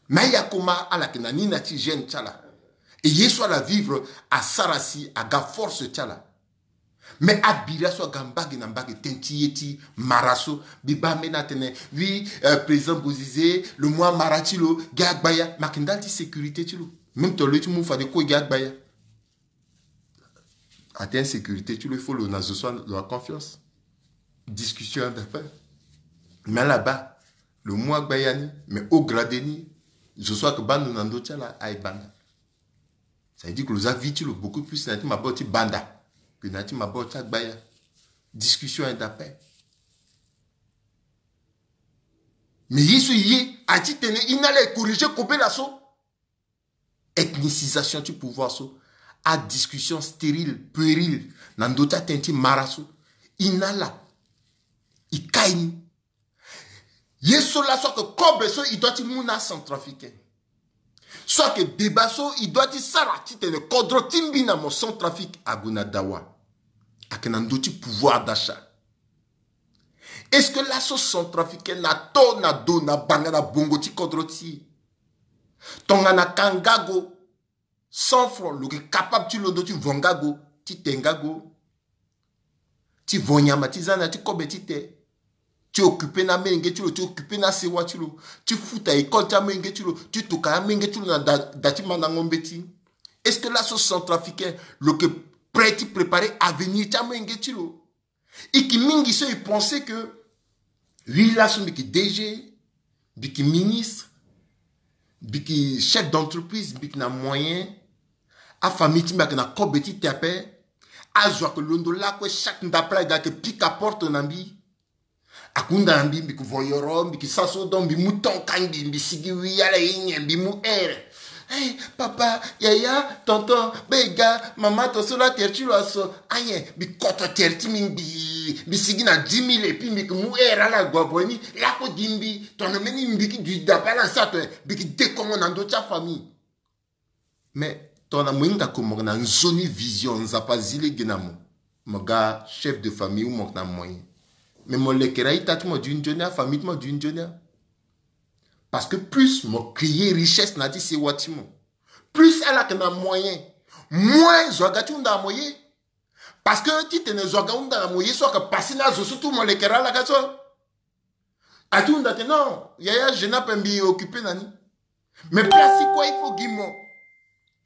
Mais ayakoma ala yeke na ni na ti gêne ti ala. E ye so ala vivre asara si aga force ti ala. Mais abira so aga mbage na mbage tënë ti ye ti mara so. Mbi baa ambeni atene, oui, euh, président Bozizé lo mu amara ti lo gi agbaya. Mais ayeke ndali ti sécurité ti lo. Même tongana lo ye ti mu fade kue gi agbaya. Atteint sécurité ti lo, il faut lo na zo so lo a confiance. Discussion aye daa ape. Mais ala baa lo mu agbaya ni, mais haut gradé ni, zo so ayeke baa ndo na ndö ti ala aye banda. Ça veut dire que lo za vie ti lo beaucoup plus na ya ti maboko ti banda que na ya ti maboko ti agbaya. Discussion aye daa ape. Mais ye so e ye aye ti tene e na ala e corriger kobela so. Ethnicisation ti pouvoir so, adiscussion stérile, puérile na ndö ti atënë ti mara so. E na ala e kai ni. Ye so laso ayeke kobe so e doit ti mu na acentrafricain. So ayeke débat so e doit ti sara titene kodro ti mbi na mo Centrafrique ague na dawa. Ayeke na ndö ti pouvoir d'achat. Est-ce que laso Centrafricain na to na do na banga na bongo ti kodro ti e? Tongana ka ngago cent francs, lo yeke capable ti londo ti vo ngago, ti te ngago, ti vo nyama ti za na ya ti kobe ti te, ti occuper na amolenge ti lo, ti occuper na asewa ti lo, ti futa école ti amolenge ti lo, ti tokua amolenge ti lo na da, da ti mandango mbeti. Est-ce que laso Centrafricain lo yeke prêt ti préparer avenir ti amolenge ti lo? E yeke mingi so e pense que oui, laso mbi yeke D G, mbi yeke ministre, mbi yeke chef d'entreprise, mbi yeke na moyen. Afamille ti mbi ayeke na kobe ti te ape. Azo ayeke londo lakue, chaque ndapre ayeke pika porte na mbi. Ayeke hunda na mbi, mbi yeke voyoro, mbi yeke sara so, donc mbi mu temps ka ngbii, mbi sigi wi ala ye nyen, mbi mu heure. Hey, papa, yaya, tonton, bega, mama, to so la terre ti lo aso. Ayen, mbi koto terre ti mbi ngbii, mbi sigi na dix mille et puis mbi yeke mu heure ala gue avo ni. Lako gi mbi, tongana mbeni mbi yeke duti dape ala sa to, mbi yeke dekongo na ndö ti afamille. Mais tongana mo hinga ko mo yeke na nzoni vision, Nzapa azi lege na mo, mo ga chef de famille ou mo yeke na moyen. Mais mo lekere a-ita ti mo duti nzoni, afamille ti mo duti nzoni. Parce que plus mo créer richesse na ya ti sewa ti mo, plus ala yeke na moyen, moins zo aga ti hunda na mo ye. Parce que titene zo aga hunda na mo ye so ayeke passé na azo so tout mo lekere ala ga so. Ati hunda tene non, yaya, jeune ape mbi occuper na ni. Mais place ti kue il faut gi mo.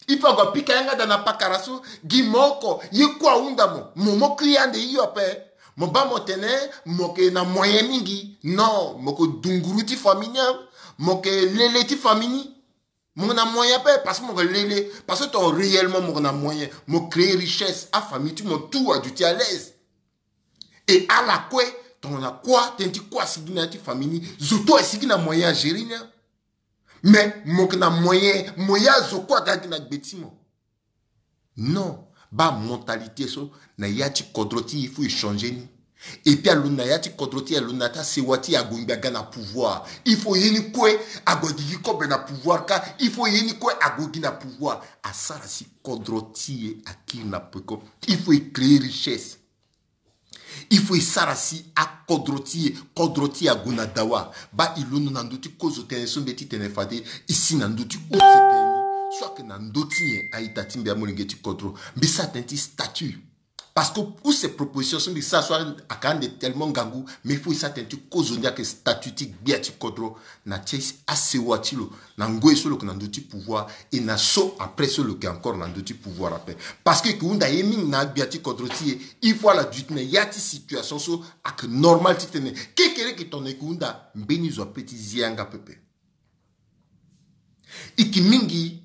Il faut ague apika yanga da na pakara so, gi mo oko, ye kue ahunda mo. Mo mo kiri ande hio ape. Mo baa mo tene mo yeke na moyen mingi. Non, mo yeke dunguru ti famille ni. Mo yeke lele ti famille ni. Mo yeke na moyen ape parce que mo yeke lele, parce que tongana réellement mo yeke na moyen, mo créer richesse, afamille ti mo tout aduti à l'aise. Et ala kue, tongana kua, tënë ti kua asigi na ya ti famille ni, zo tout asigi na moyen agérer ni. Mais mo yeke na moyen, mo ya zo kue aga gi na gbe ti mo. Non, baa mentalité so na ya ti kodro ti e, il faut e changer ni. Et puis alondo na ya ti kodro ti e, alondo na ya ti asewa ti e, ague ngbii aga na pouvoir. Il faut ye ni kue ague gigi kobe na pouvoir ka. Il faut ye ni kue ague gi na pouvoir. Asara si kodro ti e akiri na peko. Il faut e créer richesse. Il faut e sara si akodro ti e, kodro ti e ague na dawa. Baa e londo na ndö ti kozo tënë so mbi ye ti tene fade, e si na ndö ti ose tënë ni. So ayeke na ndö ti nyen, a-ita ti mbi, amolenge ti kodro? Mbi sara tënë ti statut. Parce que use proposition so mbi sara so ayeke ande tellement ngangu, mais il faut e sara tënë ti kozo ni, ayeke statut ti gbia ti kodro na ti asewa ti lo. Na ngoi so lo yeke na ndö ti pouvoir, et na so après so lo yeke encore na ndö ti pouvoir ape. Parce que e yeke hunda ye mingi na agbia ti kodro ti e, il faut ala duti na ya ti situation so ayeke normal titene kekereke tongana e yeke hunda, mbeni zo ape ti zi yanga pepe. E yeke mingi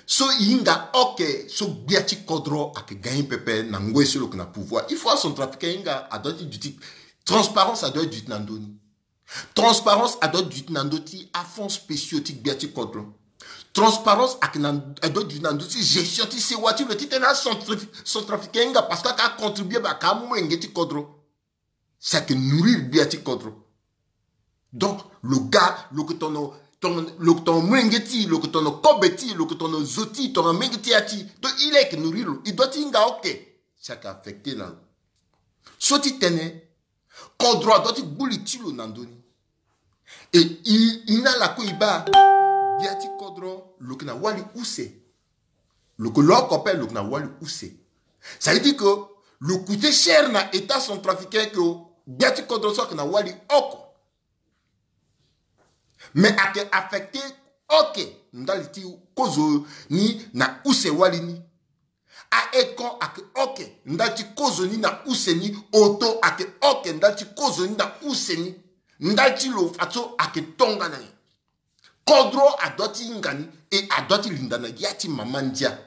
so e hinga oke so gbia ti kodro ayeke gagner pepe na ngoi so lo yeke na pouvoir. Il faut acentrafricain ahinga, adoit ti duti. Transparence adoit duti na ndö ni. Transparence adoit duti na ndö ti afonds spéciaux ti gbia ti kodro. Transparence ayeke na, adoit duti na ndö ti gestion ti sewa ti lo titene acentrafricain ahinga, parce que ayeke acontribuer, ba ayeke amolenge ti kodro. Si ayeke nourrir gbia ti kodro. Donc lo ga, lo yeke tono tongana lo yeke tongana molenge ti e, lo yeke tongana kobe ti e, lo yeke tongana zo ti e, tongana molenge ti e ya ti e. Donc il est que nourrir lo, e doit ti hinga oke. Si ayeke affecté na lo. So ti tene kodro adoit ti gbu li ti lo na ndö ni. E e na ala kue e baa, gbia ti kodro lo yeke na wali use. Lo yeke lo oko ape, lo yeke na wali use. Ça veut dire que lo coûté cher na état centrafricain que gbia ti kodro so ayeke na wali oko. Mais ayeke affecté oke ndali ti kozo ni na use wali ni. Aide-camp ayeke oke ndali ti kozo ni na use ni. Auto ayeke oke ndali ti kozo ni na use ni. Ndali ti lo fadeso ayeke tongana nyen? Kodro adoit ti hinga ni, e adoit ti linda na ya ti mama ndia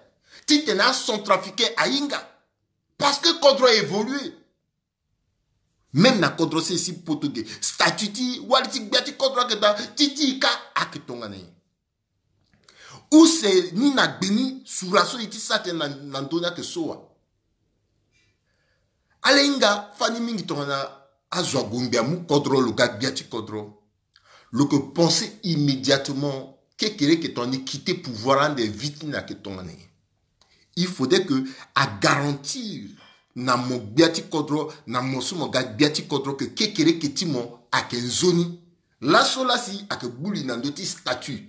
titene acentrafricain ahinga. Parce que kodro a évolué. Même na kodro sese ti poto ge, statut ti wali ti gbia ti kodro ayeke daa, ti ti e kâ ayeke tongana nyen? Use ni na gbe ni sura so e ti sara tënë na, na ndö ni ayeke so wa? Ala hinga fani mingi tongana azo ague ngbia amu kodro, lo ga gbia ti kodro. Lo yeke pensé immédiatement kekereke tongana e quitté pouvoir ande vie ti ni ayeke tongana nyen. Il faudrait que a garantir na mo gbia ti kodro, na mo so mo ga gbia ti kodro, que kekereke ti mo ayeke nzoni. Laso la si ayeke gbu li na ndö ti statut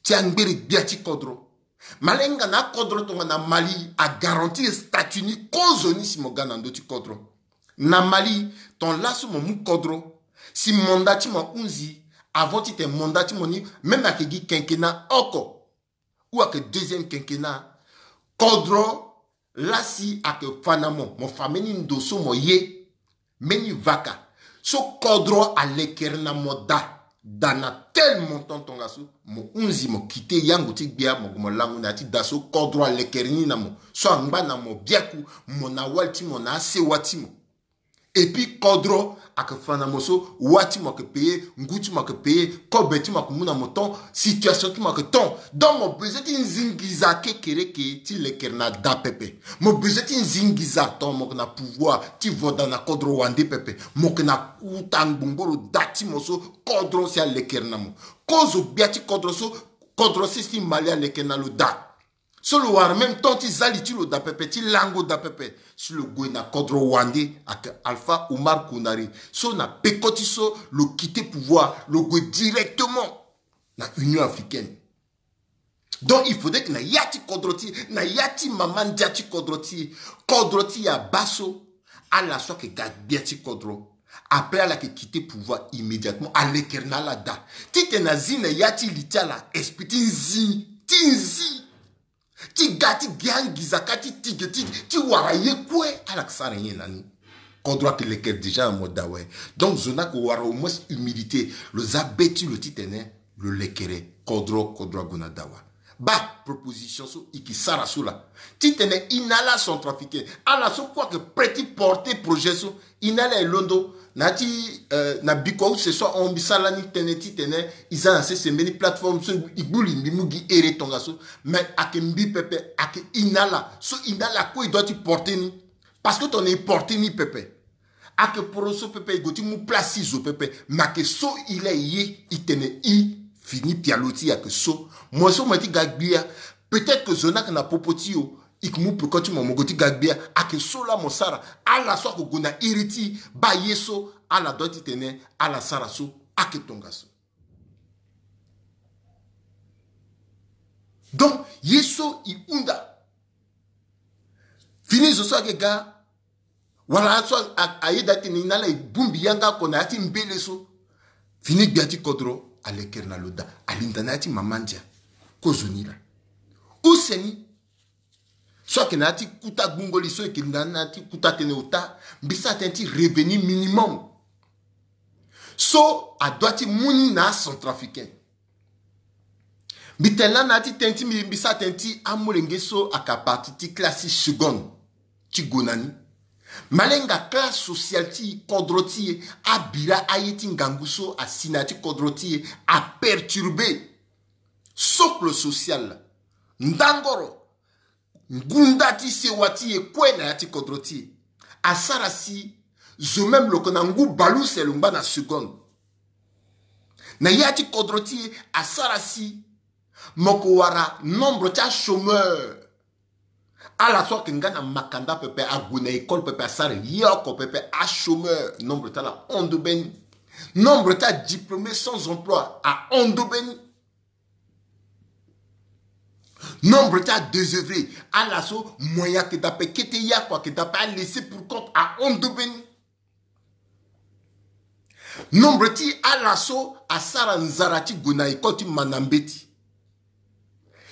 ti angbiri gbia ti kodro. Malenga na akodro tongana Mali a garantir statut ni kozoni si mo ga na ndö ti kodro. Na Mali, ton laso mo mu kodro, si mandat ti mo ahunzi, avant titene mandat ti mo ni, même ayeke gi quinquennat oko ou ayeke deuxième quinquennat, kodro la si ayeke fa na mo, mo fa mbeni ndo so mo ye, mbeni vaka so kodro alekere na mo daa, daa na tel montant tongaso, mo hunzi mo quitté yango ti gbia, mo gue mo lango na ya ti daa so kodro alekere ni na mo, so angba na mo biaku, mo na wali ti mo na asewa ti mo. Et puis kodro ayeke fa na mo so wa ti mo ayeke payé, ngu ti mo ayeke payé, kobe ti mo ayeke mu na mo ton, situation ti mo ayeke ton. Donc mo besoin ti nzingiza kekereke ti lekere na daa pepe. Mo besoin ti nzingiza ton mo yeke na pouvoir ti voda na kodro wande pepe. Mo yeke na kuta ngbongboro daa ti mo so kodro si alekere na mo. Kozo gbia ti kodro so, kodro sese ti Mali alekere na lo daa. So lo wara même temps ti za li ti lo daa pepe, ti lango daa pepe. Si lo gue na kodro wande ayeke Alpha Oumar Konaré, so na peko ti so lo quitté pouvoir, lo gue directement na Union africaine. Donc il faudrait que na ya ti kodro ti e, na ya ti mama ndia ti kodro ti e, kodro ti e abaa so ala so ayeke ga gbia ti kodro. Après ala yeke quitté pouvoir immédiatement, alekere na ala daa. Titene azi na ya ti li ti ala esprit ti nzi, ti nzi, ti ga ti gi angiza kâ ti tige ti, ti wara ye kue, ala yeke sara nyen na ni? Kodro ayeke lekere déjà na mo daa awe. Donc zo ni ayeke wara au moins humilité, lo za be ti lo titene lo lekere kodro, kodro ague na daa awe. Baa proposition so e yeke sara so laa, titene e na ala centrafricain, ala so kue ayeke prêt ti porter projet so, e na ala e londo na ya ti, euh, na bikua use so ahon mbi sara lani tënë titene e za na sese mbeni plateforme so e gbu li mbi mu gi here tongaso. Mais ayeke mbi pepe, ayeke e na ala so e na ala kue e doit ti porter ni. Parce que tongana e porter ni pepe, ayeke poro so pepe e gue ti mu place ti zo pepe. Mais ayeke so e laa e ye, e tene e fini pialo ti e ayeke so. Mo so mo ye ti ga gbia, peut-être que zo ni ayeke na popo ti e o, e yeke mu peko ti mo, mo gue ti ga gbia. Ayeke so laa mo sara. Ala so ayeke gue na iri ti e, baa ye so ala doit titene ala sara so ayeke tongaso. Donc ye so e hunda. Fini zo so ayeke ga, wala so a, a, ayeda titene e na ala e bongbi yanga oko na ya ti mbele so. Fini gbia ti kodro alekere na lo daa, alinda na ya ti mama ndia. Kozoni laa. Use ni so ayeke na ya ti kuta gbungo li so e yeke na, na ya ti kuta tënë ota, mbi sara tënë ti revenu minimum so adoit ti mu ni na acentrafricain. Mbi tene lani na ya ti tënë ti mbi, mbi sara tënë ti amolenge so ayeke à partir ti classe ti seconde ti gue na ni. Malenga classe sociale ti e, kodro ti e, abira aye ti ngangu so asi na ya ti kodro ti e, aperturbé socle social. Ndangoro, ngunda ti sewa ti e kue na ya ti kodro ti e. Asara si zo même lo yeke na ngu baleuse lo ngba na seconde. Na ya ti kodro ti e asara si mo ko wara nombre ti achômeur. Ala so ayeke nga na makanda pepe, ague na école pepe, asara ye oko pepe, achômeur, nombre ti ala ahon ndobe ni. Nombre ti adiplômé sans emploi ahon ndobe ni. Nombre ti adésœuvré, ala so moyen ayeke daa ape, kete ye oko ayeke daa ape, alaissé pour compte ahon ndobe ni. Nombre ti ala so asara nzara ti gue na école ti manda mbeti.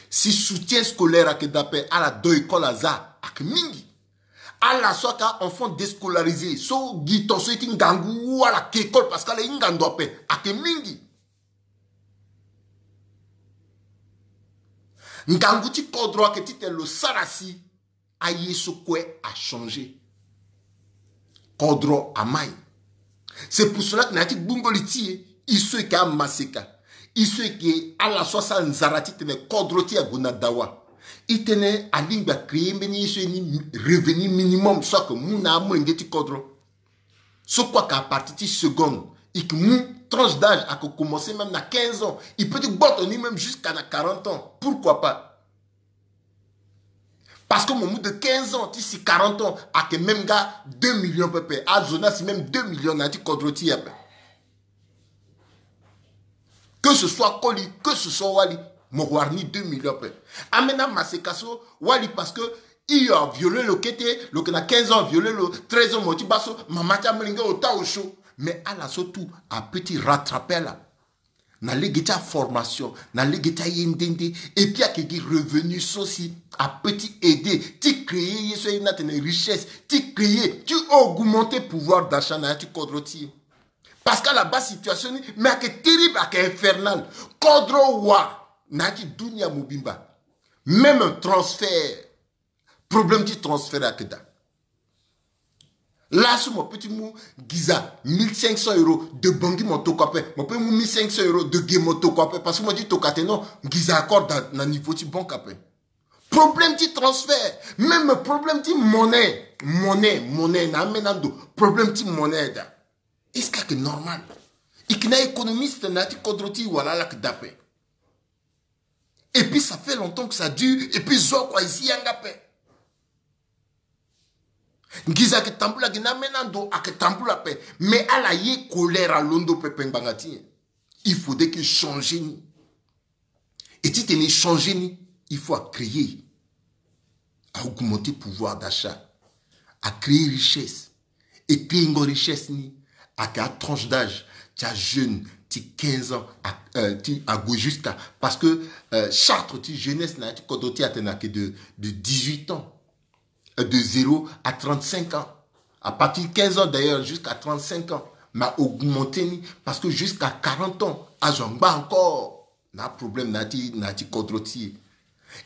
Si soutien scolaire ayeke daa ape, ala do école aza ayeke mingi. Ala so ayeke a-enfant déscolarisé, so gi ton so ye ti ngangu, ala ke école parce que ala hinga ndo ape, ayeke mingi. Ngangu ti kodro ayeke titene lo sara si aye so kue achangé. Kodro amai. C'est pour cela que na ya ti gbungo li ti e, e so e yeke amaseka, e so e yeke ala so asara nzara titene kodro ti e ague na dawa, e tene alingbi acréer mbeni ye so e ni revenu minimum so ayeke mu na amolenge ti kodro. So kue ayeke à partir ti seconde, e yeke mu tranche d'âge ayeke commencer même na quinze ans, e peut ti gboto ni même jusqu'à na quarante ans, pourquoi pas? Parce que mo mu de quinze ans ti si quarante ans, ayeke même nga deux millions pepe. Azo ni asi même deux millions na ya ti kodro ti e ape. Que ce soit koli, que ce soit wali, mo wara ni deux millions ape. Ambeni amaseka so, wali parce que e aviolé lo kete, lo yeke na quinze ans aviolé lo, treize ans mo ti baa so, mama ti amolenge ota osio. Mais ala so tout apeut ti rattraper ala na lege ti aformation, na lege ti aye nde nde. Et puis ayeke gi revenu so si apeut ti aider ti créer ye so aye ni atene richesse, ti créer, ti augmenter pouvoir d'achat na ya ti kodro ti e. Parce que ala baa situation ni, mais ayeke terrible, ayeke infernal. Kodro wa na ya ti dunia mobimba. Même transfert, problème ti transfert ayeke daa. Laso mo peut ti mu nginza mille cinq cents euros de Bangui mo tokua ape, mo peut mu mille cinq cents euros de Gué mo tokua ape, parce que mo ti tokua atene non, nginza accorde na, na niveau ti banque ape. Problème ti transfert, même problème ti monnaie, monnaie, monnaie, na ambeni ando, problème ti monnaie daa. Est-ce que ayeke normal? E yeke na économiste na ya ti kodro ti e wala ala yeke daa ape? Et puis ça fait longtemps que ça dure, et puis zo oko aye si yanga ape. Nginza ayeke tambula gi na ambeni ando ayeke tambula ape. Mais ala ye colère alondo pepe ngbanga ti nyen? Il faudrait que changer ni. Et titene changer ni, il faut acréer, a augmenter pouvoir d'achat, acréer richesse. E créengo richesse ni, ayeke atranche d'âge ti ajeune ti quinze ans a, euh, ti ague jusqu'à, parce que, euh, charte ti jeunesse na ya ti kodro ti e atene ayeke de, de dix-huit ans, euh, de zéro à trente-cinq ans. À partir de quinze ans d'ailleurs jusqu'à trente-cinq ans. Mais a augmenter ni, parce que jusqu'à quarante ans azo angba encore. Na problème na ya ti, na ya ti kodro ti e.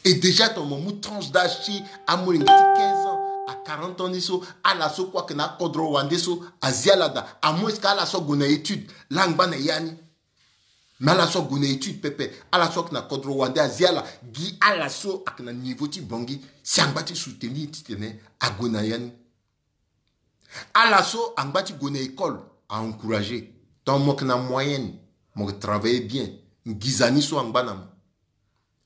Et déjà ton mo mu tranche d'âge ti amolenge ti quinze ans à quarante ans ni so, ala so kue ayeke na akodro wande so azi ala daa. À moins que ala so ague na étude, laa angba na ya ni. Mais ala so ague na étude pepe, ala so ayeke na kodro wande azi ala, gi ala so ayeke na niveau ti Bangui si angba ti soutenir titene ague na ya ni. Ala so angba ti gue na école, a encourager. Tant mo yeke na moyenne, mo yeke travailler bien, nginza ni so angba na mo,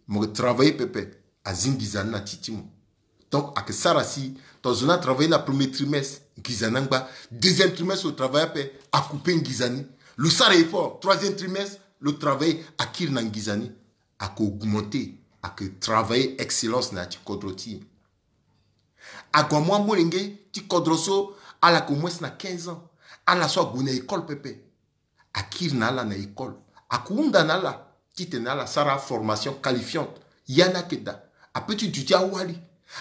mo yeke travailler pepe, azi nginza ni na ti ti mo. Donc ayeke sara si ton zo ni atravailler na premier trimestre, nginza ni angba. Deuxième trimestre lo travailler ape, acouper nginza ni. Lo sara effort, troisième trimestre lo travailler, akiri na nginza ni. Ayeke augmenter, ayeke travailler excellence na ya ti kodro ti e. Ague amu amolenge ti kodro so ala yeke au moins na quinze ans, ala so ague na école pepe, akiri na ala na école, ayeke hunda na ala titene ala sara formation qualifiante. Ya ni ayeke daa. Apeut ti duti awali.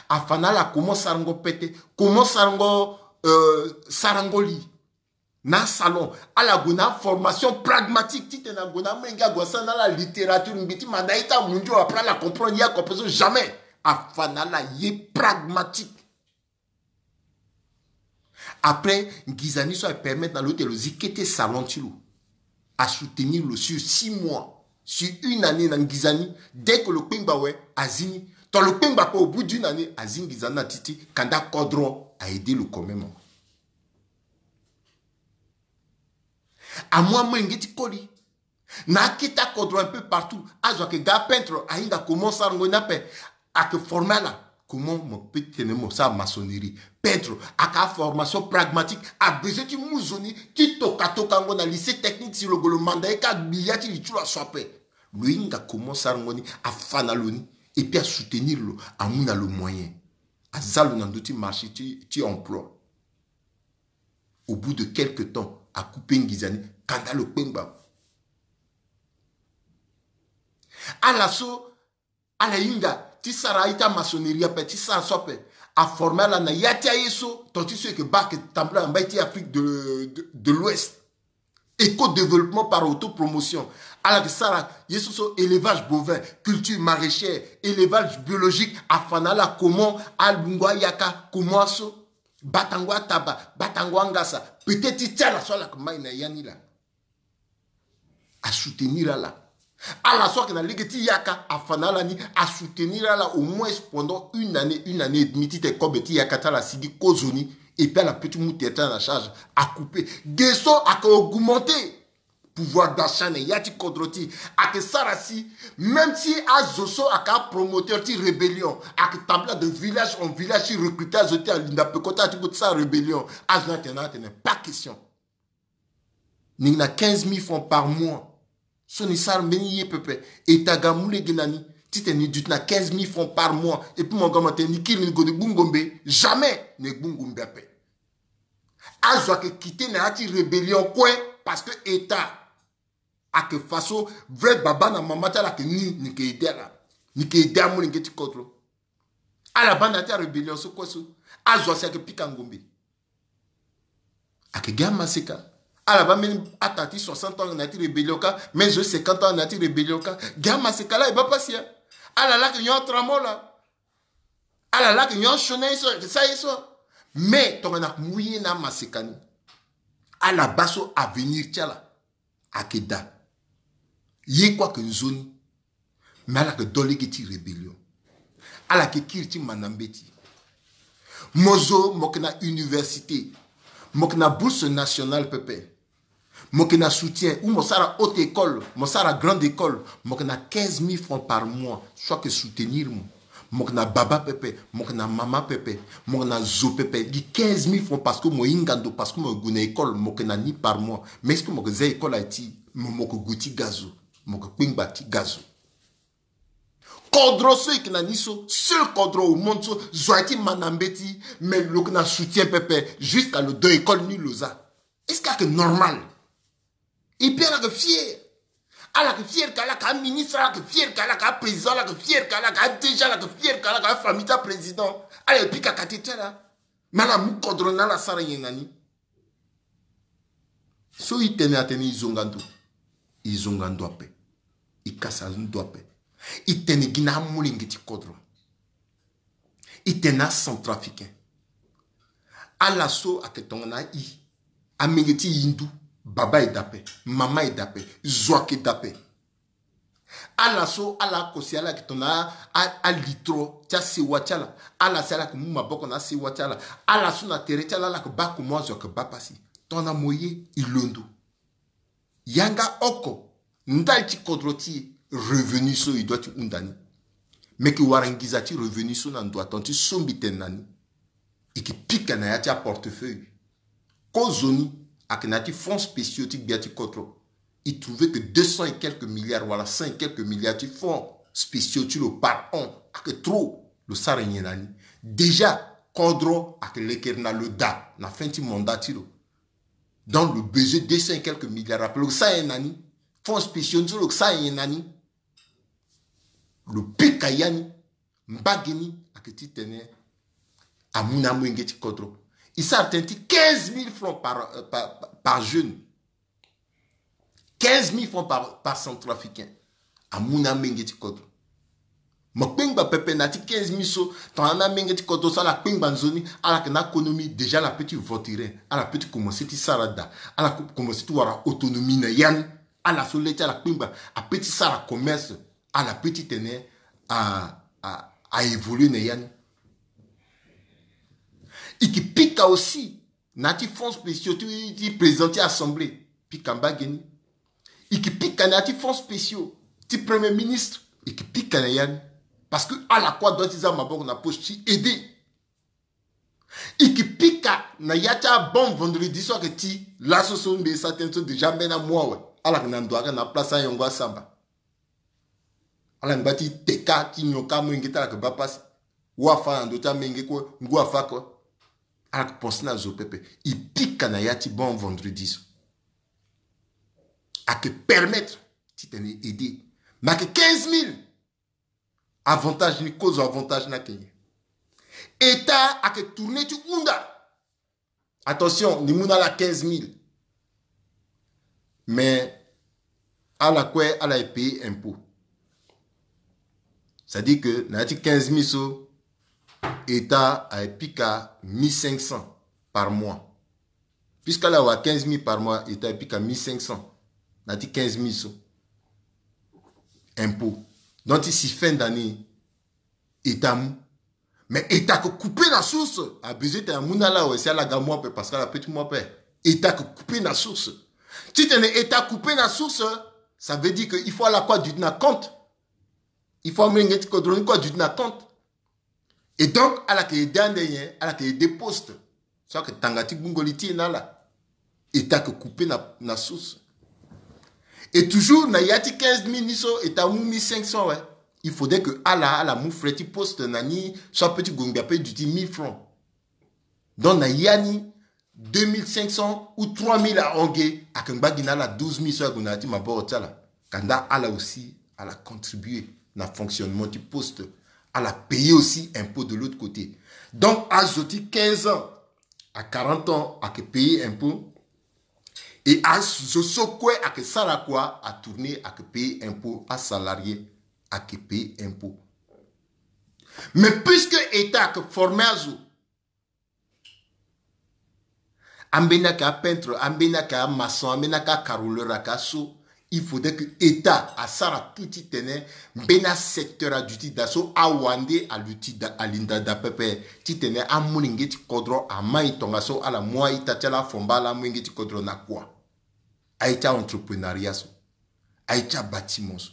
Afa na ala comment sarango pete, comment sarango, euh, sarango li. Na asalon, ala gue na aformation pragmatique titene ague na amolenge ague asara na ala littérature, mbi ti manda ye ti amundio, après ala comprendre ye oko ape so jamais. Afa na ala ye pragmatique. Après nginza ni so apermettre na lo ti lo zi kete salon ti lo. Asoutenir lo sur six mois, sur une année na nginza ni. Dès que lo kpengba awe, azi ni. Tant lo kpengba ape, au bout d'une année azi nginza ni na ti ti, kanda kodro a aider lo quand même. Amu amolenge ti koli, Na akete akodro un peu partout. Azo ayeke ga apeintre, ahinga comment sarango ni ape. Ayeke forme ala comment mo peut tene mo sara maçonnerie. Peintre, ayeke aformation pragmatique. Abezoin ti mu zo ni ti tokatokango na lycée technique si lo gue lo manda ye ka gbi ya ti li ti lo aso ape. Lo hinga comment sarango ni, afa na lo ni. Et puis asoutenir lo, amu na lo moyen. Aza lo na ndö ti marché ti, ti emploi. Au bout de quelque temps, acoupe nginza ni, kanda lo kpengba. Ala so, ala hinga ti sara aye ti amaçonnerie ape, ti sara so ape. Aforme ala na ya ti aye so, ton ti so e yeke baa ayeke tambula na mbai ti Afrique de, de, de l'Ouest. Éco-développement par autopromotion. Ala yeke sara ye so so, élevage bovin, culture maraîchère, élevage biologique, afa na ala comment alungo ayaka, comment aso, batango ataba, batango angasa. Peut-être ti ti ala so ala yeke mai na ya ni laa. Asoutenir ala. Ala so ayeke na lege ti yaka, afa na ala ni asoutenir ala au moins pendant une année, une année et demie, titene kobe ti yaka ti ala asigi kozoni. Et puis ala peut ti mu tere ti ala na charge. Acoupe. Ge so ayeke augmenter pouvoir d'achat na ya ti kodro ti e. Ayeke sara si, même si azo so ayeke apromoteur ti rébellion, ayeke tambula de village en village ti recruter azo ti alinda peko ti ala ti gue ti sara rébellion. Azo ni atene, atene pas question. Ni na quinze mille francs par mois. So ni sara mbeni ye pepe. État ga amu lege na ni titene ni duti na quinze mille francs par mois. Et puis mo ga mo tene ni kiri ni gue ni gbu ngombe. Jamais ni gbu ngombe ape. Azo ayeke quitté na ya ti rébellion kue, parce que État ayeke fa so vrai baba na mama ti ala ayeke ni, ni yeke aidé ala. Ni yeke aidé amolenge ti kodro. Ala baa na ya ti arébellion so kue so, azo asi ayeke pika ngombe. Ayeke gi amaseka. Ala baa mbeni ata ti soixante ans na ya ti rébellion ka, mbeni zo ti cinquante ans na ya ti rébellion ka. Gi amaseka laa e baa pasi ya. Ala laa ayeke nyon atramol laa. Ala laa ayeke nyon asioni aye so, ayeke sara ye so. Mais tongana amu ye na amaseka ni, ala baa so avenir ti ala ayeke daa. Ye kue ayeke nzoni. Mais ala yeke dö lege ti rébellion. Ala yeke kiri ti manda mbeti. Mo zo mo yeke na université. Mo yeke na bourse nationale pepe. Mo yeke na soutien ou mo sara haute école, mo sara grande école. Mo yeke na quinze mille francs par mois. So ayeke soutenir mo. Mo yeke na baba pepe, mo yeke na mama pepe, mo yeke na zo pepe. Gi quinze mille francs parce que mo hinga ndo, parce que mo yeke gue na école, mo yeke na ni par mois. Mais est-ce que mo yeke za école aye ti mo, mo yeke gue ti ga zo, mo yeke kpengba ti ga zo. Kodro so e yeke na ni so, seul kodro au monde so, zo aye ti manda mbeti, mais lo yeke na soutien pepe, jusqu'à lo dö école ni lo za. Est-ce que ayeke normal? Et puis ala yeke fier. Ala yeke fier ka ala yeke aministre, ala yeke fier ka ala yeke aprésident, ala yeke fier ka ala yeke adéja, ala yeke fier ka ala yeke afamille ti aprésident. Ala yeke pika kate ti ala. Mais ala mu kodro ni ala sara nyen na ni? So e tene atene e zonga ndo. E zonga ndo ape. E kasa ndo ape. E tene gi na amolenge ti kodro. E tene acentrafricain. Ala so ayeke tongana i, amenge ti hindu, baba e daa ape, mama e daa ape, zo ayeke daa ape. Ala so ala kosi ala yeke tongana a, a, alitro ti asewa ti ala. Ala si ala yeke mu maboko na asewa ti ala. Ala so na tere ti ala ala yeke baa comment azo ayeke baa pasi. Tongana mo ye, e londo. Yanga oko, ndali ti kodro ti e, revenu so e doit ti hunda ni. Meke wara nginza ti revenu so na ndo aton ti so mbi tene na ni. E yeke pika na ya ti aportefeuille. Kozoni ayeke na ya ti fonds spéciaux ti gbia ti kodro. E trouve que deux cents et quelques milliards wala cent et quelques milliards ti fonds spéciaux ti lo par an ayeke trop. Lo sara nyen na ni? Déjà kodro ayeke lekere na lo daa na fin ti mandat ti lo. Donc lo besoin deux cents et quelques milliards ape, lo sara nyen na ni? Fonds spéciaux ni so lo sara nyen na ni? Lo pika ya ni. Mbage ni ayeke titene amu na amolenge ti kodro. E sara tënë ti quinze mille francs par, euh, par, par jeune. Quinze mille francs par, par centrafricain. Amu na amolenge ti kodro. Mo kpengba pepe na ya ti quinze mille so, tongana amolenge ti kodro so ala kpengba nzoni, ala yeke na économie, déjà ala peut ti voturer, ala peut ti commencer ti sara daa, ala ko-, commencer ti wara autonomie na ya ni. Ala so le ti ala kpengba, a peut ti sara commerce, ala peut ti tene a, a, a évoluer na ya ni. E yeke pika aussi na ya ti fonds spéciaux ti, ti président ti assemblée, pika mbage ni. E ke pika na ya ti fonds spéciaux ti premier ministre. E ke pika na ya ni. Parce que ala kue adoit ti za maboko na poche ti aider. E ke pika na ya ti abon vendredi so ayeke ti laso so mbi sa tënë so déjà mbeni amois awe. Ala yeke na ndo ayeke na place ayongo asamba. Ala ngba ti teka ti nyon ka amolenge ti ala yeke baa pasi. Wa afa na ndö ti amolenge kue, ngu afa kue. Ala yeke pense na zo pepe. E pika na ya ti bon vendredi so. Ayeke permettre titene e aider. Mais ayeke quinze mille. Avantage ni, kozo avantage ni ayeke nyen? État ayeke tourner ti hunda. Attention, ni mu na ala quinze mille. Mais ala kue ala e payer impôt. C'est-à-dire que na ya ti quinze mille so, État aye pika mille cinq cents par mois. Puisque ala awa quinze mille par mois, État aye pika mille cinq cents na ya ti quinze mille so. Impôt. Donc ti si fin d'année, État amu. Mais État ayeke couper na source. Abezoin titene amu na ala awe si ala ga mu ape, parce que ala peut ti mu ape. État ayeke couper na source. Titene État couper na source, ça veut dire que il faut ala kue aduti na compte. Il faut amolenge ti kodro ni kue aduti na compte. Et donc ala yeke aider ande nyen? Ala yeke aider poste. So ayeke tanga ti gbungo li ti e na ala. État ayeke couper na, na source. Et toujours na ya ti quinze mille ni so, État amu mille cinq cents, ouais. Il faudrait que ala, ala mu frais ti poste na ni, so apeut ti gue ngbi ape duti mille francs. Donc na ya ni, deux mille cinq cents ou trois mille ahon ge, ayeke ngba gi na ala douze mille so ague na ya ti maboko ti ala. Kanda ala aussi ala contribuer na fonctionnement ti poste. Ala payer aussi impôt de l'autre côté. Donc azo ti quinze ans à quarante ans ayeke payer impôt. Et azo so kue ayeke sara kua atourner ayeke payer impôt. Asalarié ayeke payer impôt. Mais puisque État ayeke former azo, ambeni ayeke apeintre, ambeni ayeke amaçon, ambeni ayeke acarreleur, ayeke aso. Il faudrait que État asara tout titene mbeni asecteur aduti daa so awande aluti daa, alinda daa pepe, titene amolenge ti kodro amai tongaso ala mu a-ita ti ala, afomba ala amolenge ti kodro na kua. Aye ti a-entreprenariat so, aye ti abâtiment so.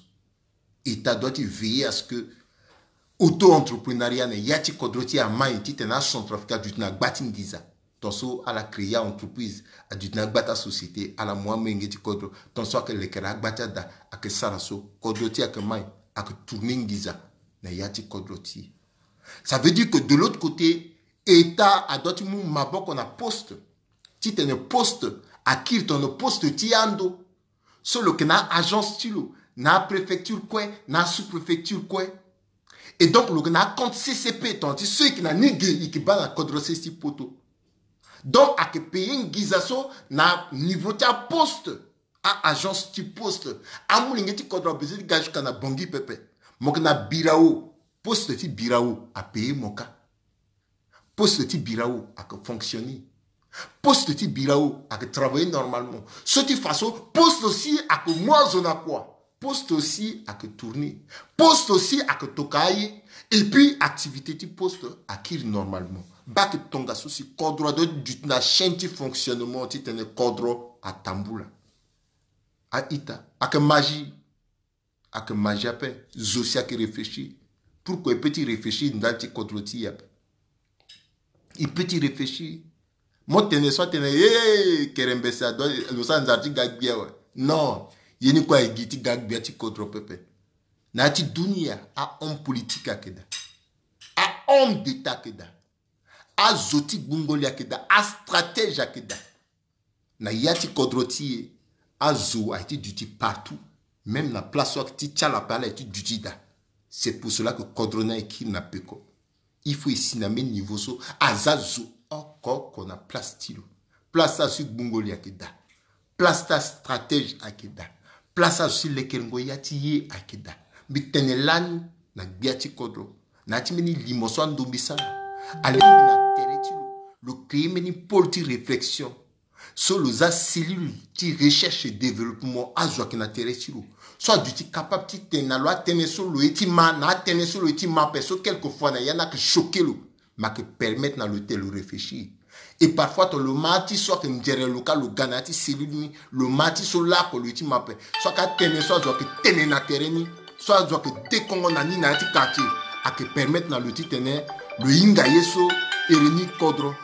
État doit ti veiller à ce que auto-entrepreneuriat na ya ti kodro ti e amai titene acentrafricain aduti na gba ti nginza. Tongaso ala créer a-entreprise, aduti na gba ti asociété, ala mu amolenge ti kodro. Tongaso ayeke lekere agba ti ada, ayeke sara so, kodro ti e ayeke mai, ayeke tourner nginza na ya ti kodro ti e. Ça veut dire que de l'autre côté, État adoit ti mu maboko na poste, titene poste akiri tongana poste ti ando. So lo yeke na agence ti lo na préfecture kue, na sous-préfecture kue. Et donc lo yeke na compte C C P, tongana ti so e yeke na ni ge e yeke baa na kodro sese ti poto. Donc ayeke payer nginza so na niveau ti aposte, a-agence ti poste. Amolenge ti kodro abezoin ti ga jusqu'à na Bangui pepe. Mo yeke na Birao, poste ti Birao apayer mo kâ. Poste ti Birao ayeke fonctionner. Poste ti Birao ayeke travailler normalement. So ti fa so poste aussi ayeke mu azo na kua. Poste aussi ayeke tourner. Poste aussi ayeke toka aye. Et puis activité ti poste akiri normalement. Baa ayeke tongaso si kodro adoit ti duti na chaîne ti fonctionnement titene kodro atambula. A-ita, ayeke magie. Ayeke magie ape. Zo si ayeke réfléchir. Pourquoi e peut ti réfléchir ndali ti kodro ti e ape? E peut ti réfléchir. Mo tene so atene, eh, kerembese adoit, lo sara nzara ti ga gbia awe. Non. Ye ni kue aye gi ti ga gbia ti kodro pepe. Na ya ti dunia, a-homme politique ayeke daa. A-homme d'État ayeke daa. Azo ti gbungo li ayeke daa. Astratège ayeke daa. Na ya ti kodro ti e, azo aye ti duti partout. Même na place so ayeke ti ti ala ape, ala aye ti duti daa. C'est pour cela que kodro ni aye kiri na peko. Il faut e si na même niveau so, aza zo oko oko na place ti lo. Place ti azo ti gbungo li ayeke daa. Place ti astratège ayeke daa. Place ti azo ti lekerengo ya ti ye ayeke daa. Mbi tene lani na gbia ti kodro, na ya ti mbeni limo so ando mbi sara, alingbi na tere ti lo, lo créer mbeni pôle ti réflexion. So lo za cellule ti recherche et développement, azo ayeke na tere ti lo. So aduti capable ti tene na lo atënë so lo ye ti ma, na atënë so lo ye ti ma ape, so quelquefois na ya ni ayeke choquer lo. Mais ayeke permettre na lo tene lo réfléchir. Et parfois ton lo ma ti so ayeke nzere lo ka lo ga na ya ti cellule ni, lo ma ti so lako lo ye ti ma ape. So ayeke atene so azo ayeke tene na tere ni, so azo ayeke dekongo na ni na ya ti quartier, ayeke permettre na lo titene lo hinga ye so ere ni kodro.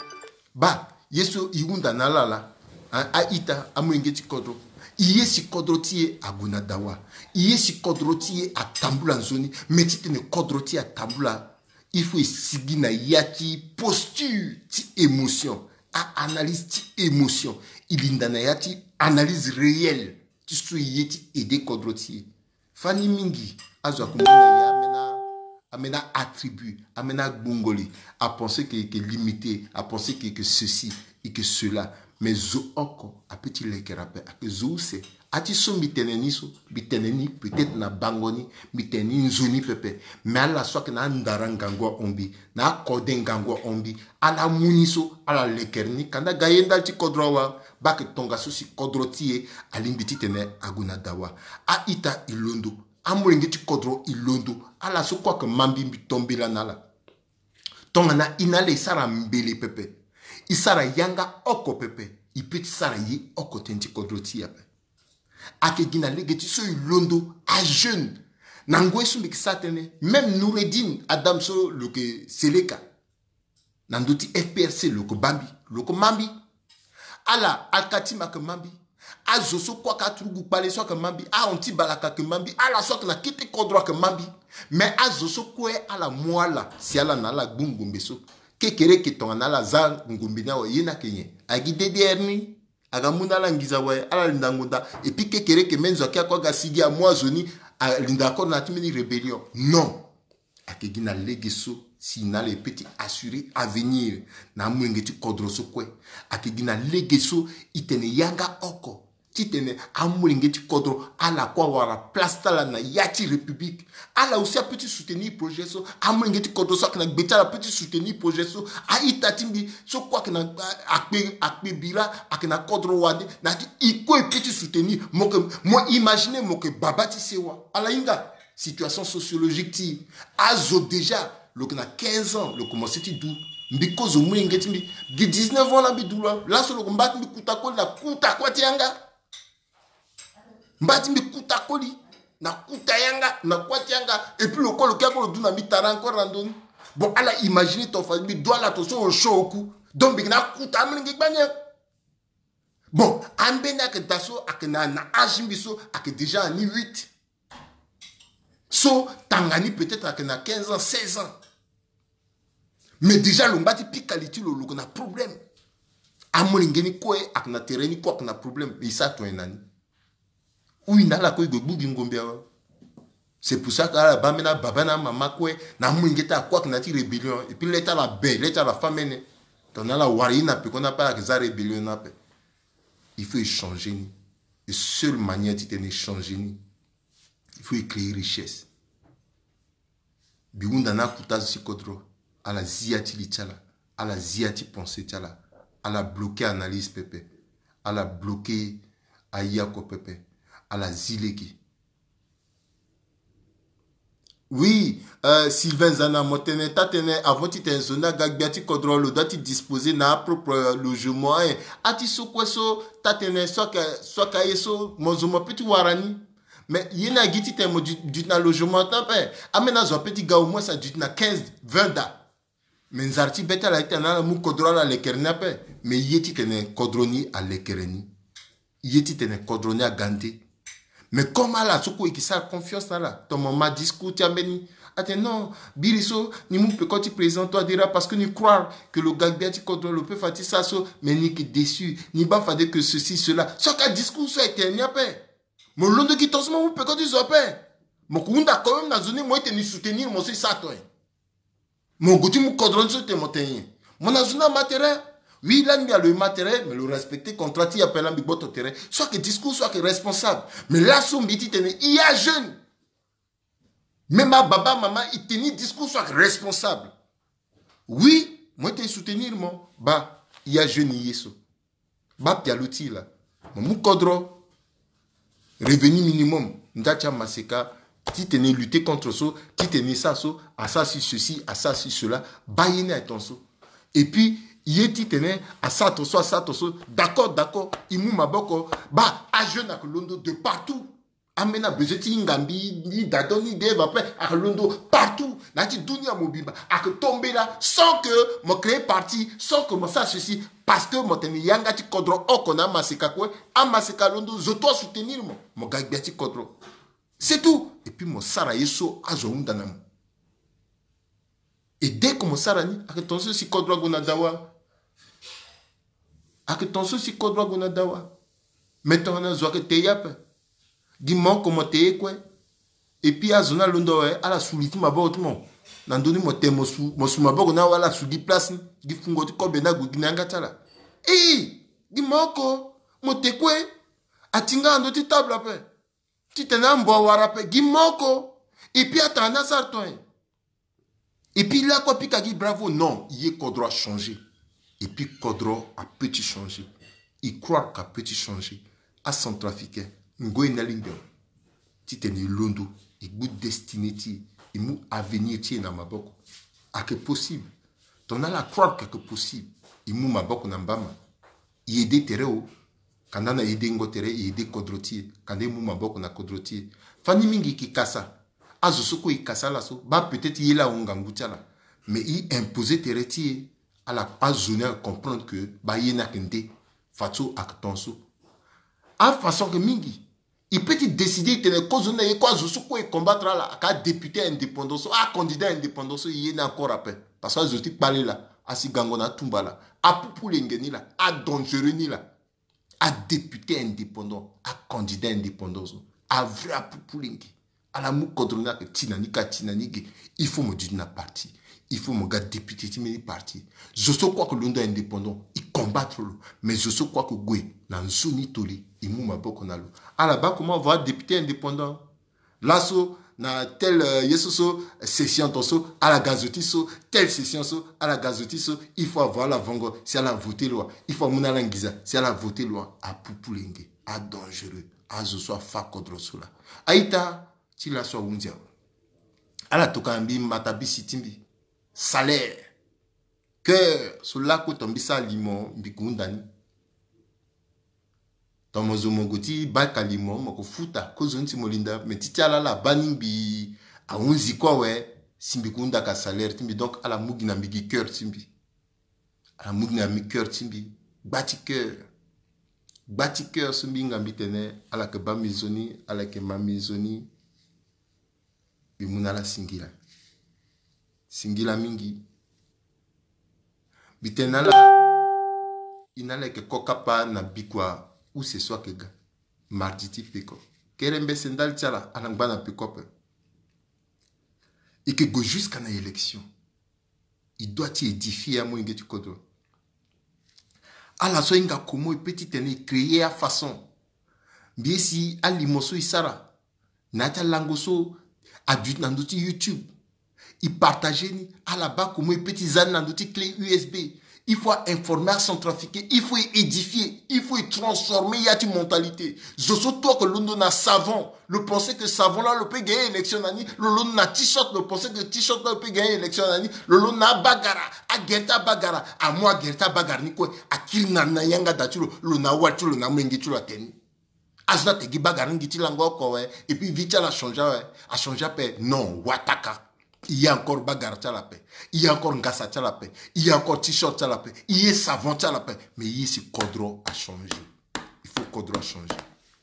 Baa ye so e hunda na ala laa, a-ita, amolenge ti kodro. E ye si kodro ti e ague na dawa. E ye si kodro ti e atambula nzoni. Me titene kodro ti e atambula, il faut e sigi na ya ti posture ti émotion, a-analyse ti émotion. E linda na ya ti analyse réelle ti so e ye ti aider kodro ti e. Fani mingi azo akumbi na ye ambeni, ambeni attribut, ambeni agbongoli. Apenser que, que limité, apenser que, que ceci et que cela. Mais zo oko ape ti lekere ape, ayeke zo use. A ti so mbi tene ni so, mbi tene ni peut-être na bango ni, mbi tene ni nzoni pepe. Mais ala so ayeke na andara ngangu ahon mbi, na akode ngangu ahon mbi, ala mu ni so, ala lekere ni. Kanda ga ye ndali ti kodro awe. Baa ayeke tongaso si kodro ti e alingbi titene ague na dawa. A-ita, e londo. Amolenge ti kodro, e londo. Ala so kue ayeke ma mbi, mbi to mbela na ala. Tongana e na ala e sara mbele pepe, e sara yanga oko pepe, e peut ti sara ye oko tënë ti kodro ti e ape. Ayeke gi na lege ti so e londo, ajeune. Na ngoi so mbi yeke sara tënë, même Noureddine Adam so lo yeke seleka na ndö ti F P R C, lo yeke baa mbi, lo yeke ma mbi. Ala Alkatim ayeke ma mbi. Azo so kue ayeke aturugu kpale so ayeke ma mbi. Ahon ti balaka ayeke ma mbi. Ala so ayeke na kete kodro ayeke ma mbi. Mais azo so kue ala mu ala si ala na ala gbu ngombe so, kekereke tongana ala za ngombe ni awe, ye ni ayeke nyen? Agi D D R ni. Aga mu na ala nginza awe, ala linda ngonda. Et puis kekereke même zo ayeke akue aga sigi amu azo ni, alinda akore na ya ti mbeni rébellion. Non. Ayeke gi na lege so si na ala e peut ti assurer avenir na amolenge ti kodro so kue. Ayeke gi na lege so e tene yanga oko titene amolenge ti kodro ala kue awara place ti ala na ya ti République. Ala aussi apeut ti soutenir projet so. Amolenge ti kodro so ayeke na gbe ti ala apeut ti soutenir projet so. A-ita ti mbi so kue ayeke na, a, akpe, akpe bira, ayeke na kodro wande, na ya ti e kue e peut ti soutenir. Mo yeke, mo imaginer mo yeke baba ti sewa. Ala hinga situation sociologique ti e. Azo déjà lo yeke na quinze ans, lo commencé ti du. Mbi kozo molenge ti mbi, gi dix-neuf ans laa mbi du lo. Laso lo yeke mba ti mbi kuta koli na kuta kuâ ti yanga. Mba ti mbi kuta koli na kuta yanga, na kuâ ti yanga. Et puis lo kue lo ke akue lo du na mbi tara encore na ndö ni. Bon, ala imaginer ton fa mbi du ala ton so lo sio oku. Donc mbi yeke na akuta amolenge gbani. Bon, ambeni ayeke daa so ayeke na, na âge mbi so ayeke déjà na ni huit. So tanga ni peut-être ayeke na quinze ans, seize ans. Mais déjà lo ngba ti pika li ti lo, lo yeke na problème. Amolenge ni kue ayeke na tere ni kue ayeke na problème. Mais e sara tongana ni. Ou e na ala kue e gue gbu gi ngombe awe. C'est pour ça que ala baa ambeni ababa na amama kue na amolenge ti ala kue ayeke na ya ti rébellion. Et puis le ti ala be, le ti ala fâ mene. Tongana ala wara ye ni na peko ni ape, ala yeke za rébellion ni ape. Il faut e changer ni. Et seule manière titene e changer ni, il faut e créer richesse. Mbi hunda na akuta azo ti kodro, ala zi ya ti li ti ala, ala zi ya ti pensée ti ala, ala bloquer analyse pepe, ala bloquer aye oko pepe, ala zi lege. Oui, euh, Sylvain Zana, mo tene, taa tene, avant titene zo ni aga gbia ti kodro, lo doit ti disposer na apropre, euh, logement, eh. A ti so kue so, taa tene, so ayeke, so ayeke aye so, mo zo mo peut ti wara ni. Mais ye ni agi titene mo duti, duti na logement ti ape. Ambeni azo apeut ti ga au moins aduti na quinze, vingt daa. Mais nzara ti be ti ala ye ti tene ala mu kodro ala lekere ni ape. Mais ye titene kodro ni alekere ni. Ye titene kodro ni aga nde. Mais comme ala so kue e ke sara confiance na ala. Tongana mo ma discours ti ambeni, atene non, biri so ni mu peko ti président Touadéra parce que ni croire que lo ga gbia ti kodro, lo peut fa ti sara so, mais ni yeke déçu, ni baa fade que ceci, cela. So ayeke adiscours so e tene ni ape. Mo londo gi tongaso mo mu peko ti zo ape. Mo yeke hunda quand même na zo ni, mo ye tene ni soutenir mo so e sara tongana nyen? Mo gue ti mu kodro ni so tene mo tene nyen? Mo na zo ni ama terrain. Oui, lani mbi alo e ma terrain, mais lo respecter contrat ti e ape, lani mbi gboto terrain. So ayeke discours so ayeke responsable. Mais laso mbi ye ti tene e ajeune. Même ababa amama e tene ni discours so ayeke responsable. Oui, mo ye tene e soutenir mo. Baa, e ajeune, e ye so. Baa pialo ti e laa. Mo mu kodro. Revenu minimum, nda ti amaseka, titene e lutter contre so, titene e sara so, asara si ceci, asara si cela, baa ye ni aye tongaso. Et puis, Ye titene asara ton so, asara ton so. D'accord, d'accord. E mu maboko. Baa, ajeune ayeke londo de partout. Ambeni abezoin ti hinga mbi, ni dadon ni de eva ape, ayeke londo partout na ya ti dunia mobimba. Ayeke to mbela sans que mo créer parti, sans que mo sara ceci, parce que mo tene yanga ti kodro oko na amaseka kue. Amaseka alondo, zo to asoutenir mo, mo ga gbia ti kodro. C'est tout. Et puis mo sara ye so azo ahunda na mo. Et dès que mo sara ni, ayeke ton so si kodro ague na dawa. Ayeke ton so si kodro ague na dawa. Mais tongana zo ayeke te ye ape, gi mo oko mo te ye kue. Et puis azo ni alondo awe, ala su li ti maboko ti mo. Na ndö ni mo te mo su, mo su maboko ni awe, ala su gi place ni. Gi fungo ti kobe ni ague gi na yanga ti ala. Ii, gi mo oko mo te kue. Ati nga na ndö ti table ape. Titene ambo awara ape, gi mo oko. Et puis atanga ni asara ton e. Et puis lakue apika gi bravo. Non, ye kodro achangé. Et puis kodro apeut ti changé. E croire que apeut ti changé. Acentrafricain, ngoi ni alingbi awe. Titene e londo, e gbu destinée ti e, e mu avenir ti e na maboko. Ayeke possible. Tongana ala croire que ayeke possible, e mu maboko na mbama. E aidé tere o. Kanda na e aidé ngo tere, e aidé kodro ti e. Kanda e mu maboko na kodro ti e. Fani mingi e ke kasa. Azo so kue e kasa ala so, baa peut-être ye laa ahon ngangu ti ala. Mais e imposer tere ti e. Ala, azo ni ayeke comprendre que baa ye ni ayeke nde. Fadeso ayeke ton so. Afaçon ayeke mingi. E peut ti décider e tene kozoni na ye kue, azo so kue e combattre ala, aka adéputé indépendant so, acandidat indépendant so, e ye ni encore ape. Parce que azo ti kpale laa, asi gango na atumba laa, apupulenge ni laa, adangereux ni laa. Adéputé indépendant, acandidat indépendant so, avrai apupulenge. Ala mu kodro ni ayeke ti na ni ka, ti na ni ge. Il faut mo duti na parti. Il faut mo ga député ti mbeni parti. Zo so kue ayeke londo indépendant, e combattre lo. Mais zo so kue ayeke gue na nzoni toli, e mu maboko na lo. Ala baa comment avoir député indépendant. Laso na tel, euh, ye so so, session ton so ala ga zo ti so, telle session so ala ga zo ti so. Il faut avoir ala vongo si ala voté loi. Il faut amu na ala nginza si ala voté loi. Apupulenge, adangereux. Azo so afa kodro so laa. A-ita, ti laso ahunzi awe. Ala tokua na mbi matabisi ti mbi. Salaire. Cœur so lakue ton mbi sara limo mbi ke hunda ni. Ton mo zo mo gue ti baka limo mo ke futa kozoni si mo linda, mais ti ti ala ala baa ni mbi ahunzi kue awe. Si mbi ke hunda ka salaire ti mbi, donc ala mu gi na mbi gi cœur ti mbi. Ala mu gi na mbi cœur ti mbi. Gba ti cœur. Gba ti cœur so mbi hinga mbi tene ala yeke baa mbi nzoni, ala yeke ma mbi nzoni. Mbi mu na ala singila. Singila mingi. Mbi tene na ala, e na ala yeke ko kapa na bikua use so ayeke ga. Mardi ti peko. Kere mbese ndali ti ala, ala ngba na peko ape. E yeke gue jusqu'à na élection. E doit ti édifier amolenge ti kodro. Ala so ahinga comment e peut titene e créer afaçon. Mbi ye si alimo so e sara na ya ti alango so aduti na ndö ti YouTube, e partager ni. Ala baa comment e peut ti za ni na ndö ti clé U S B. Il faut a informer acentrafricain, il faut e édifier, il faut e transformer ya ti mentalité. Zo so tout ayeke londo na savon, lo pensé que savon laa lo peut gagner élection na ni, lo londo na t-shirt, lo pensé que t-shirt laa lo peut gagner élection na ni, lo londo na abagara, agere ti abagara, amu agere ti abagara ni kue akiri na, na yanga da ti lo, lo na awali ti lo, na amolenge ti lo atene ni. Azo ni ate gi bagara ni gi ti lango oko awe, et puis vie ti ala achangé awe, achangé ape. Non, wataka. E ye encore bagara ti ala ape. E ye encore ngasa ti ala ape. E ye encore t-shirt ti ala ape. E ye savon ti ala ape. Mais e ye si kodro achangé. Il faut kodro achangé.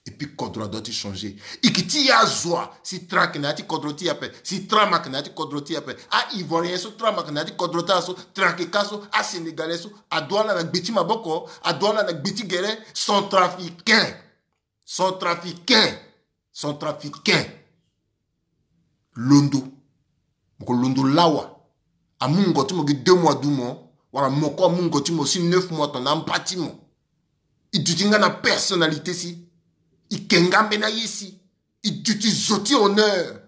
Et puis kodro adoit ti changé. E yeke ti e azo wa si train ayeke na ya ti kodro ti e ape, si tram ayeke na ya ti kodro ti e ape. A-Ivoirien so tram ayeke na ya ti kodro ti ala so, train ayeke ka so, a-Sénégalais so, adoit ala na gbe ti maboko, adoit ala na gbe ti gere. Centrafricain. Centrafricain. Centrafricain. Londo. Mo ko londo lawa. Amu ngo ti mo gi deux mois du mo, wala mo ko amu ngo ti mo si neuf mois tongana amba ti mo. E duti nga na personnalité si. E ke nga mbeni aye si. E duti zo ti honneur.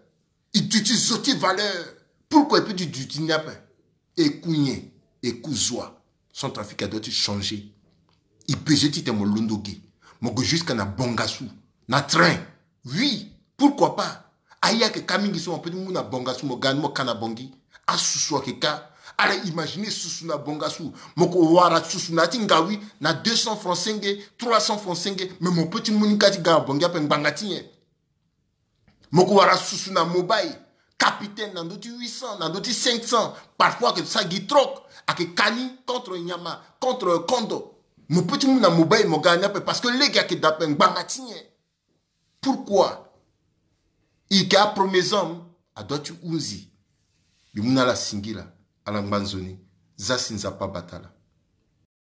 E duti zo ti valeur. Pourquoi e peut ti duti ni ape? Eku nyen? Eku zo wa. Centrafrique adoit ti changer. E besoin titene mo londo ge. Mo gue jusqu'à na Bangassou, na train. Oui, pourquoi pas? Aye ayeke ka mingi so mo peut ti mu na Bangassou, mo ga ni mo ka na Bangui. Asusu ayeke ka. Ala imagine susu na bongasu. Mo ko wara susu na ya ti ngawi na deux cents francs senge, trois cents francs senge, mais mo peut ti mu ni kâ ti ga na bongi ape ngbanga ti nyen? Mo ko wara susu na mobile, capitaine na ndö ti huit cents, na ndö ti cinq cents, parfois ayeke sa gi troc, ayeke ka ni contre nyama, contre kondo. Mo peut ti mu na mobile mo ga na ni ape parce que lege ayeke daa ape ngbanga ti nyen? Pourquoi? E yeke apremier zame, adoit ti hunzi. Mbi mu na ala singila, ala ngba nzoni. Za si Nzapa abata ala.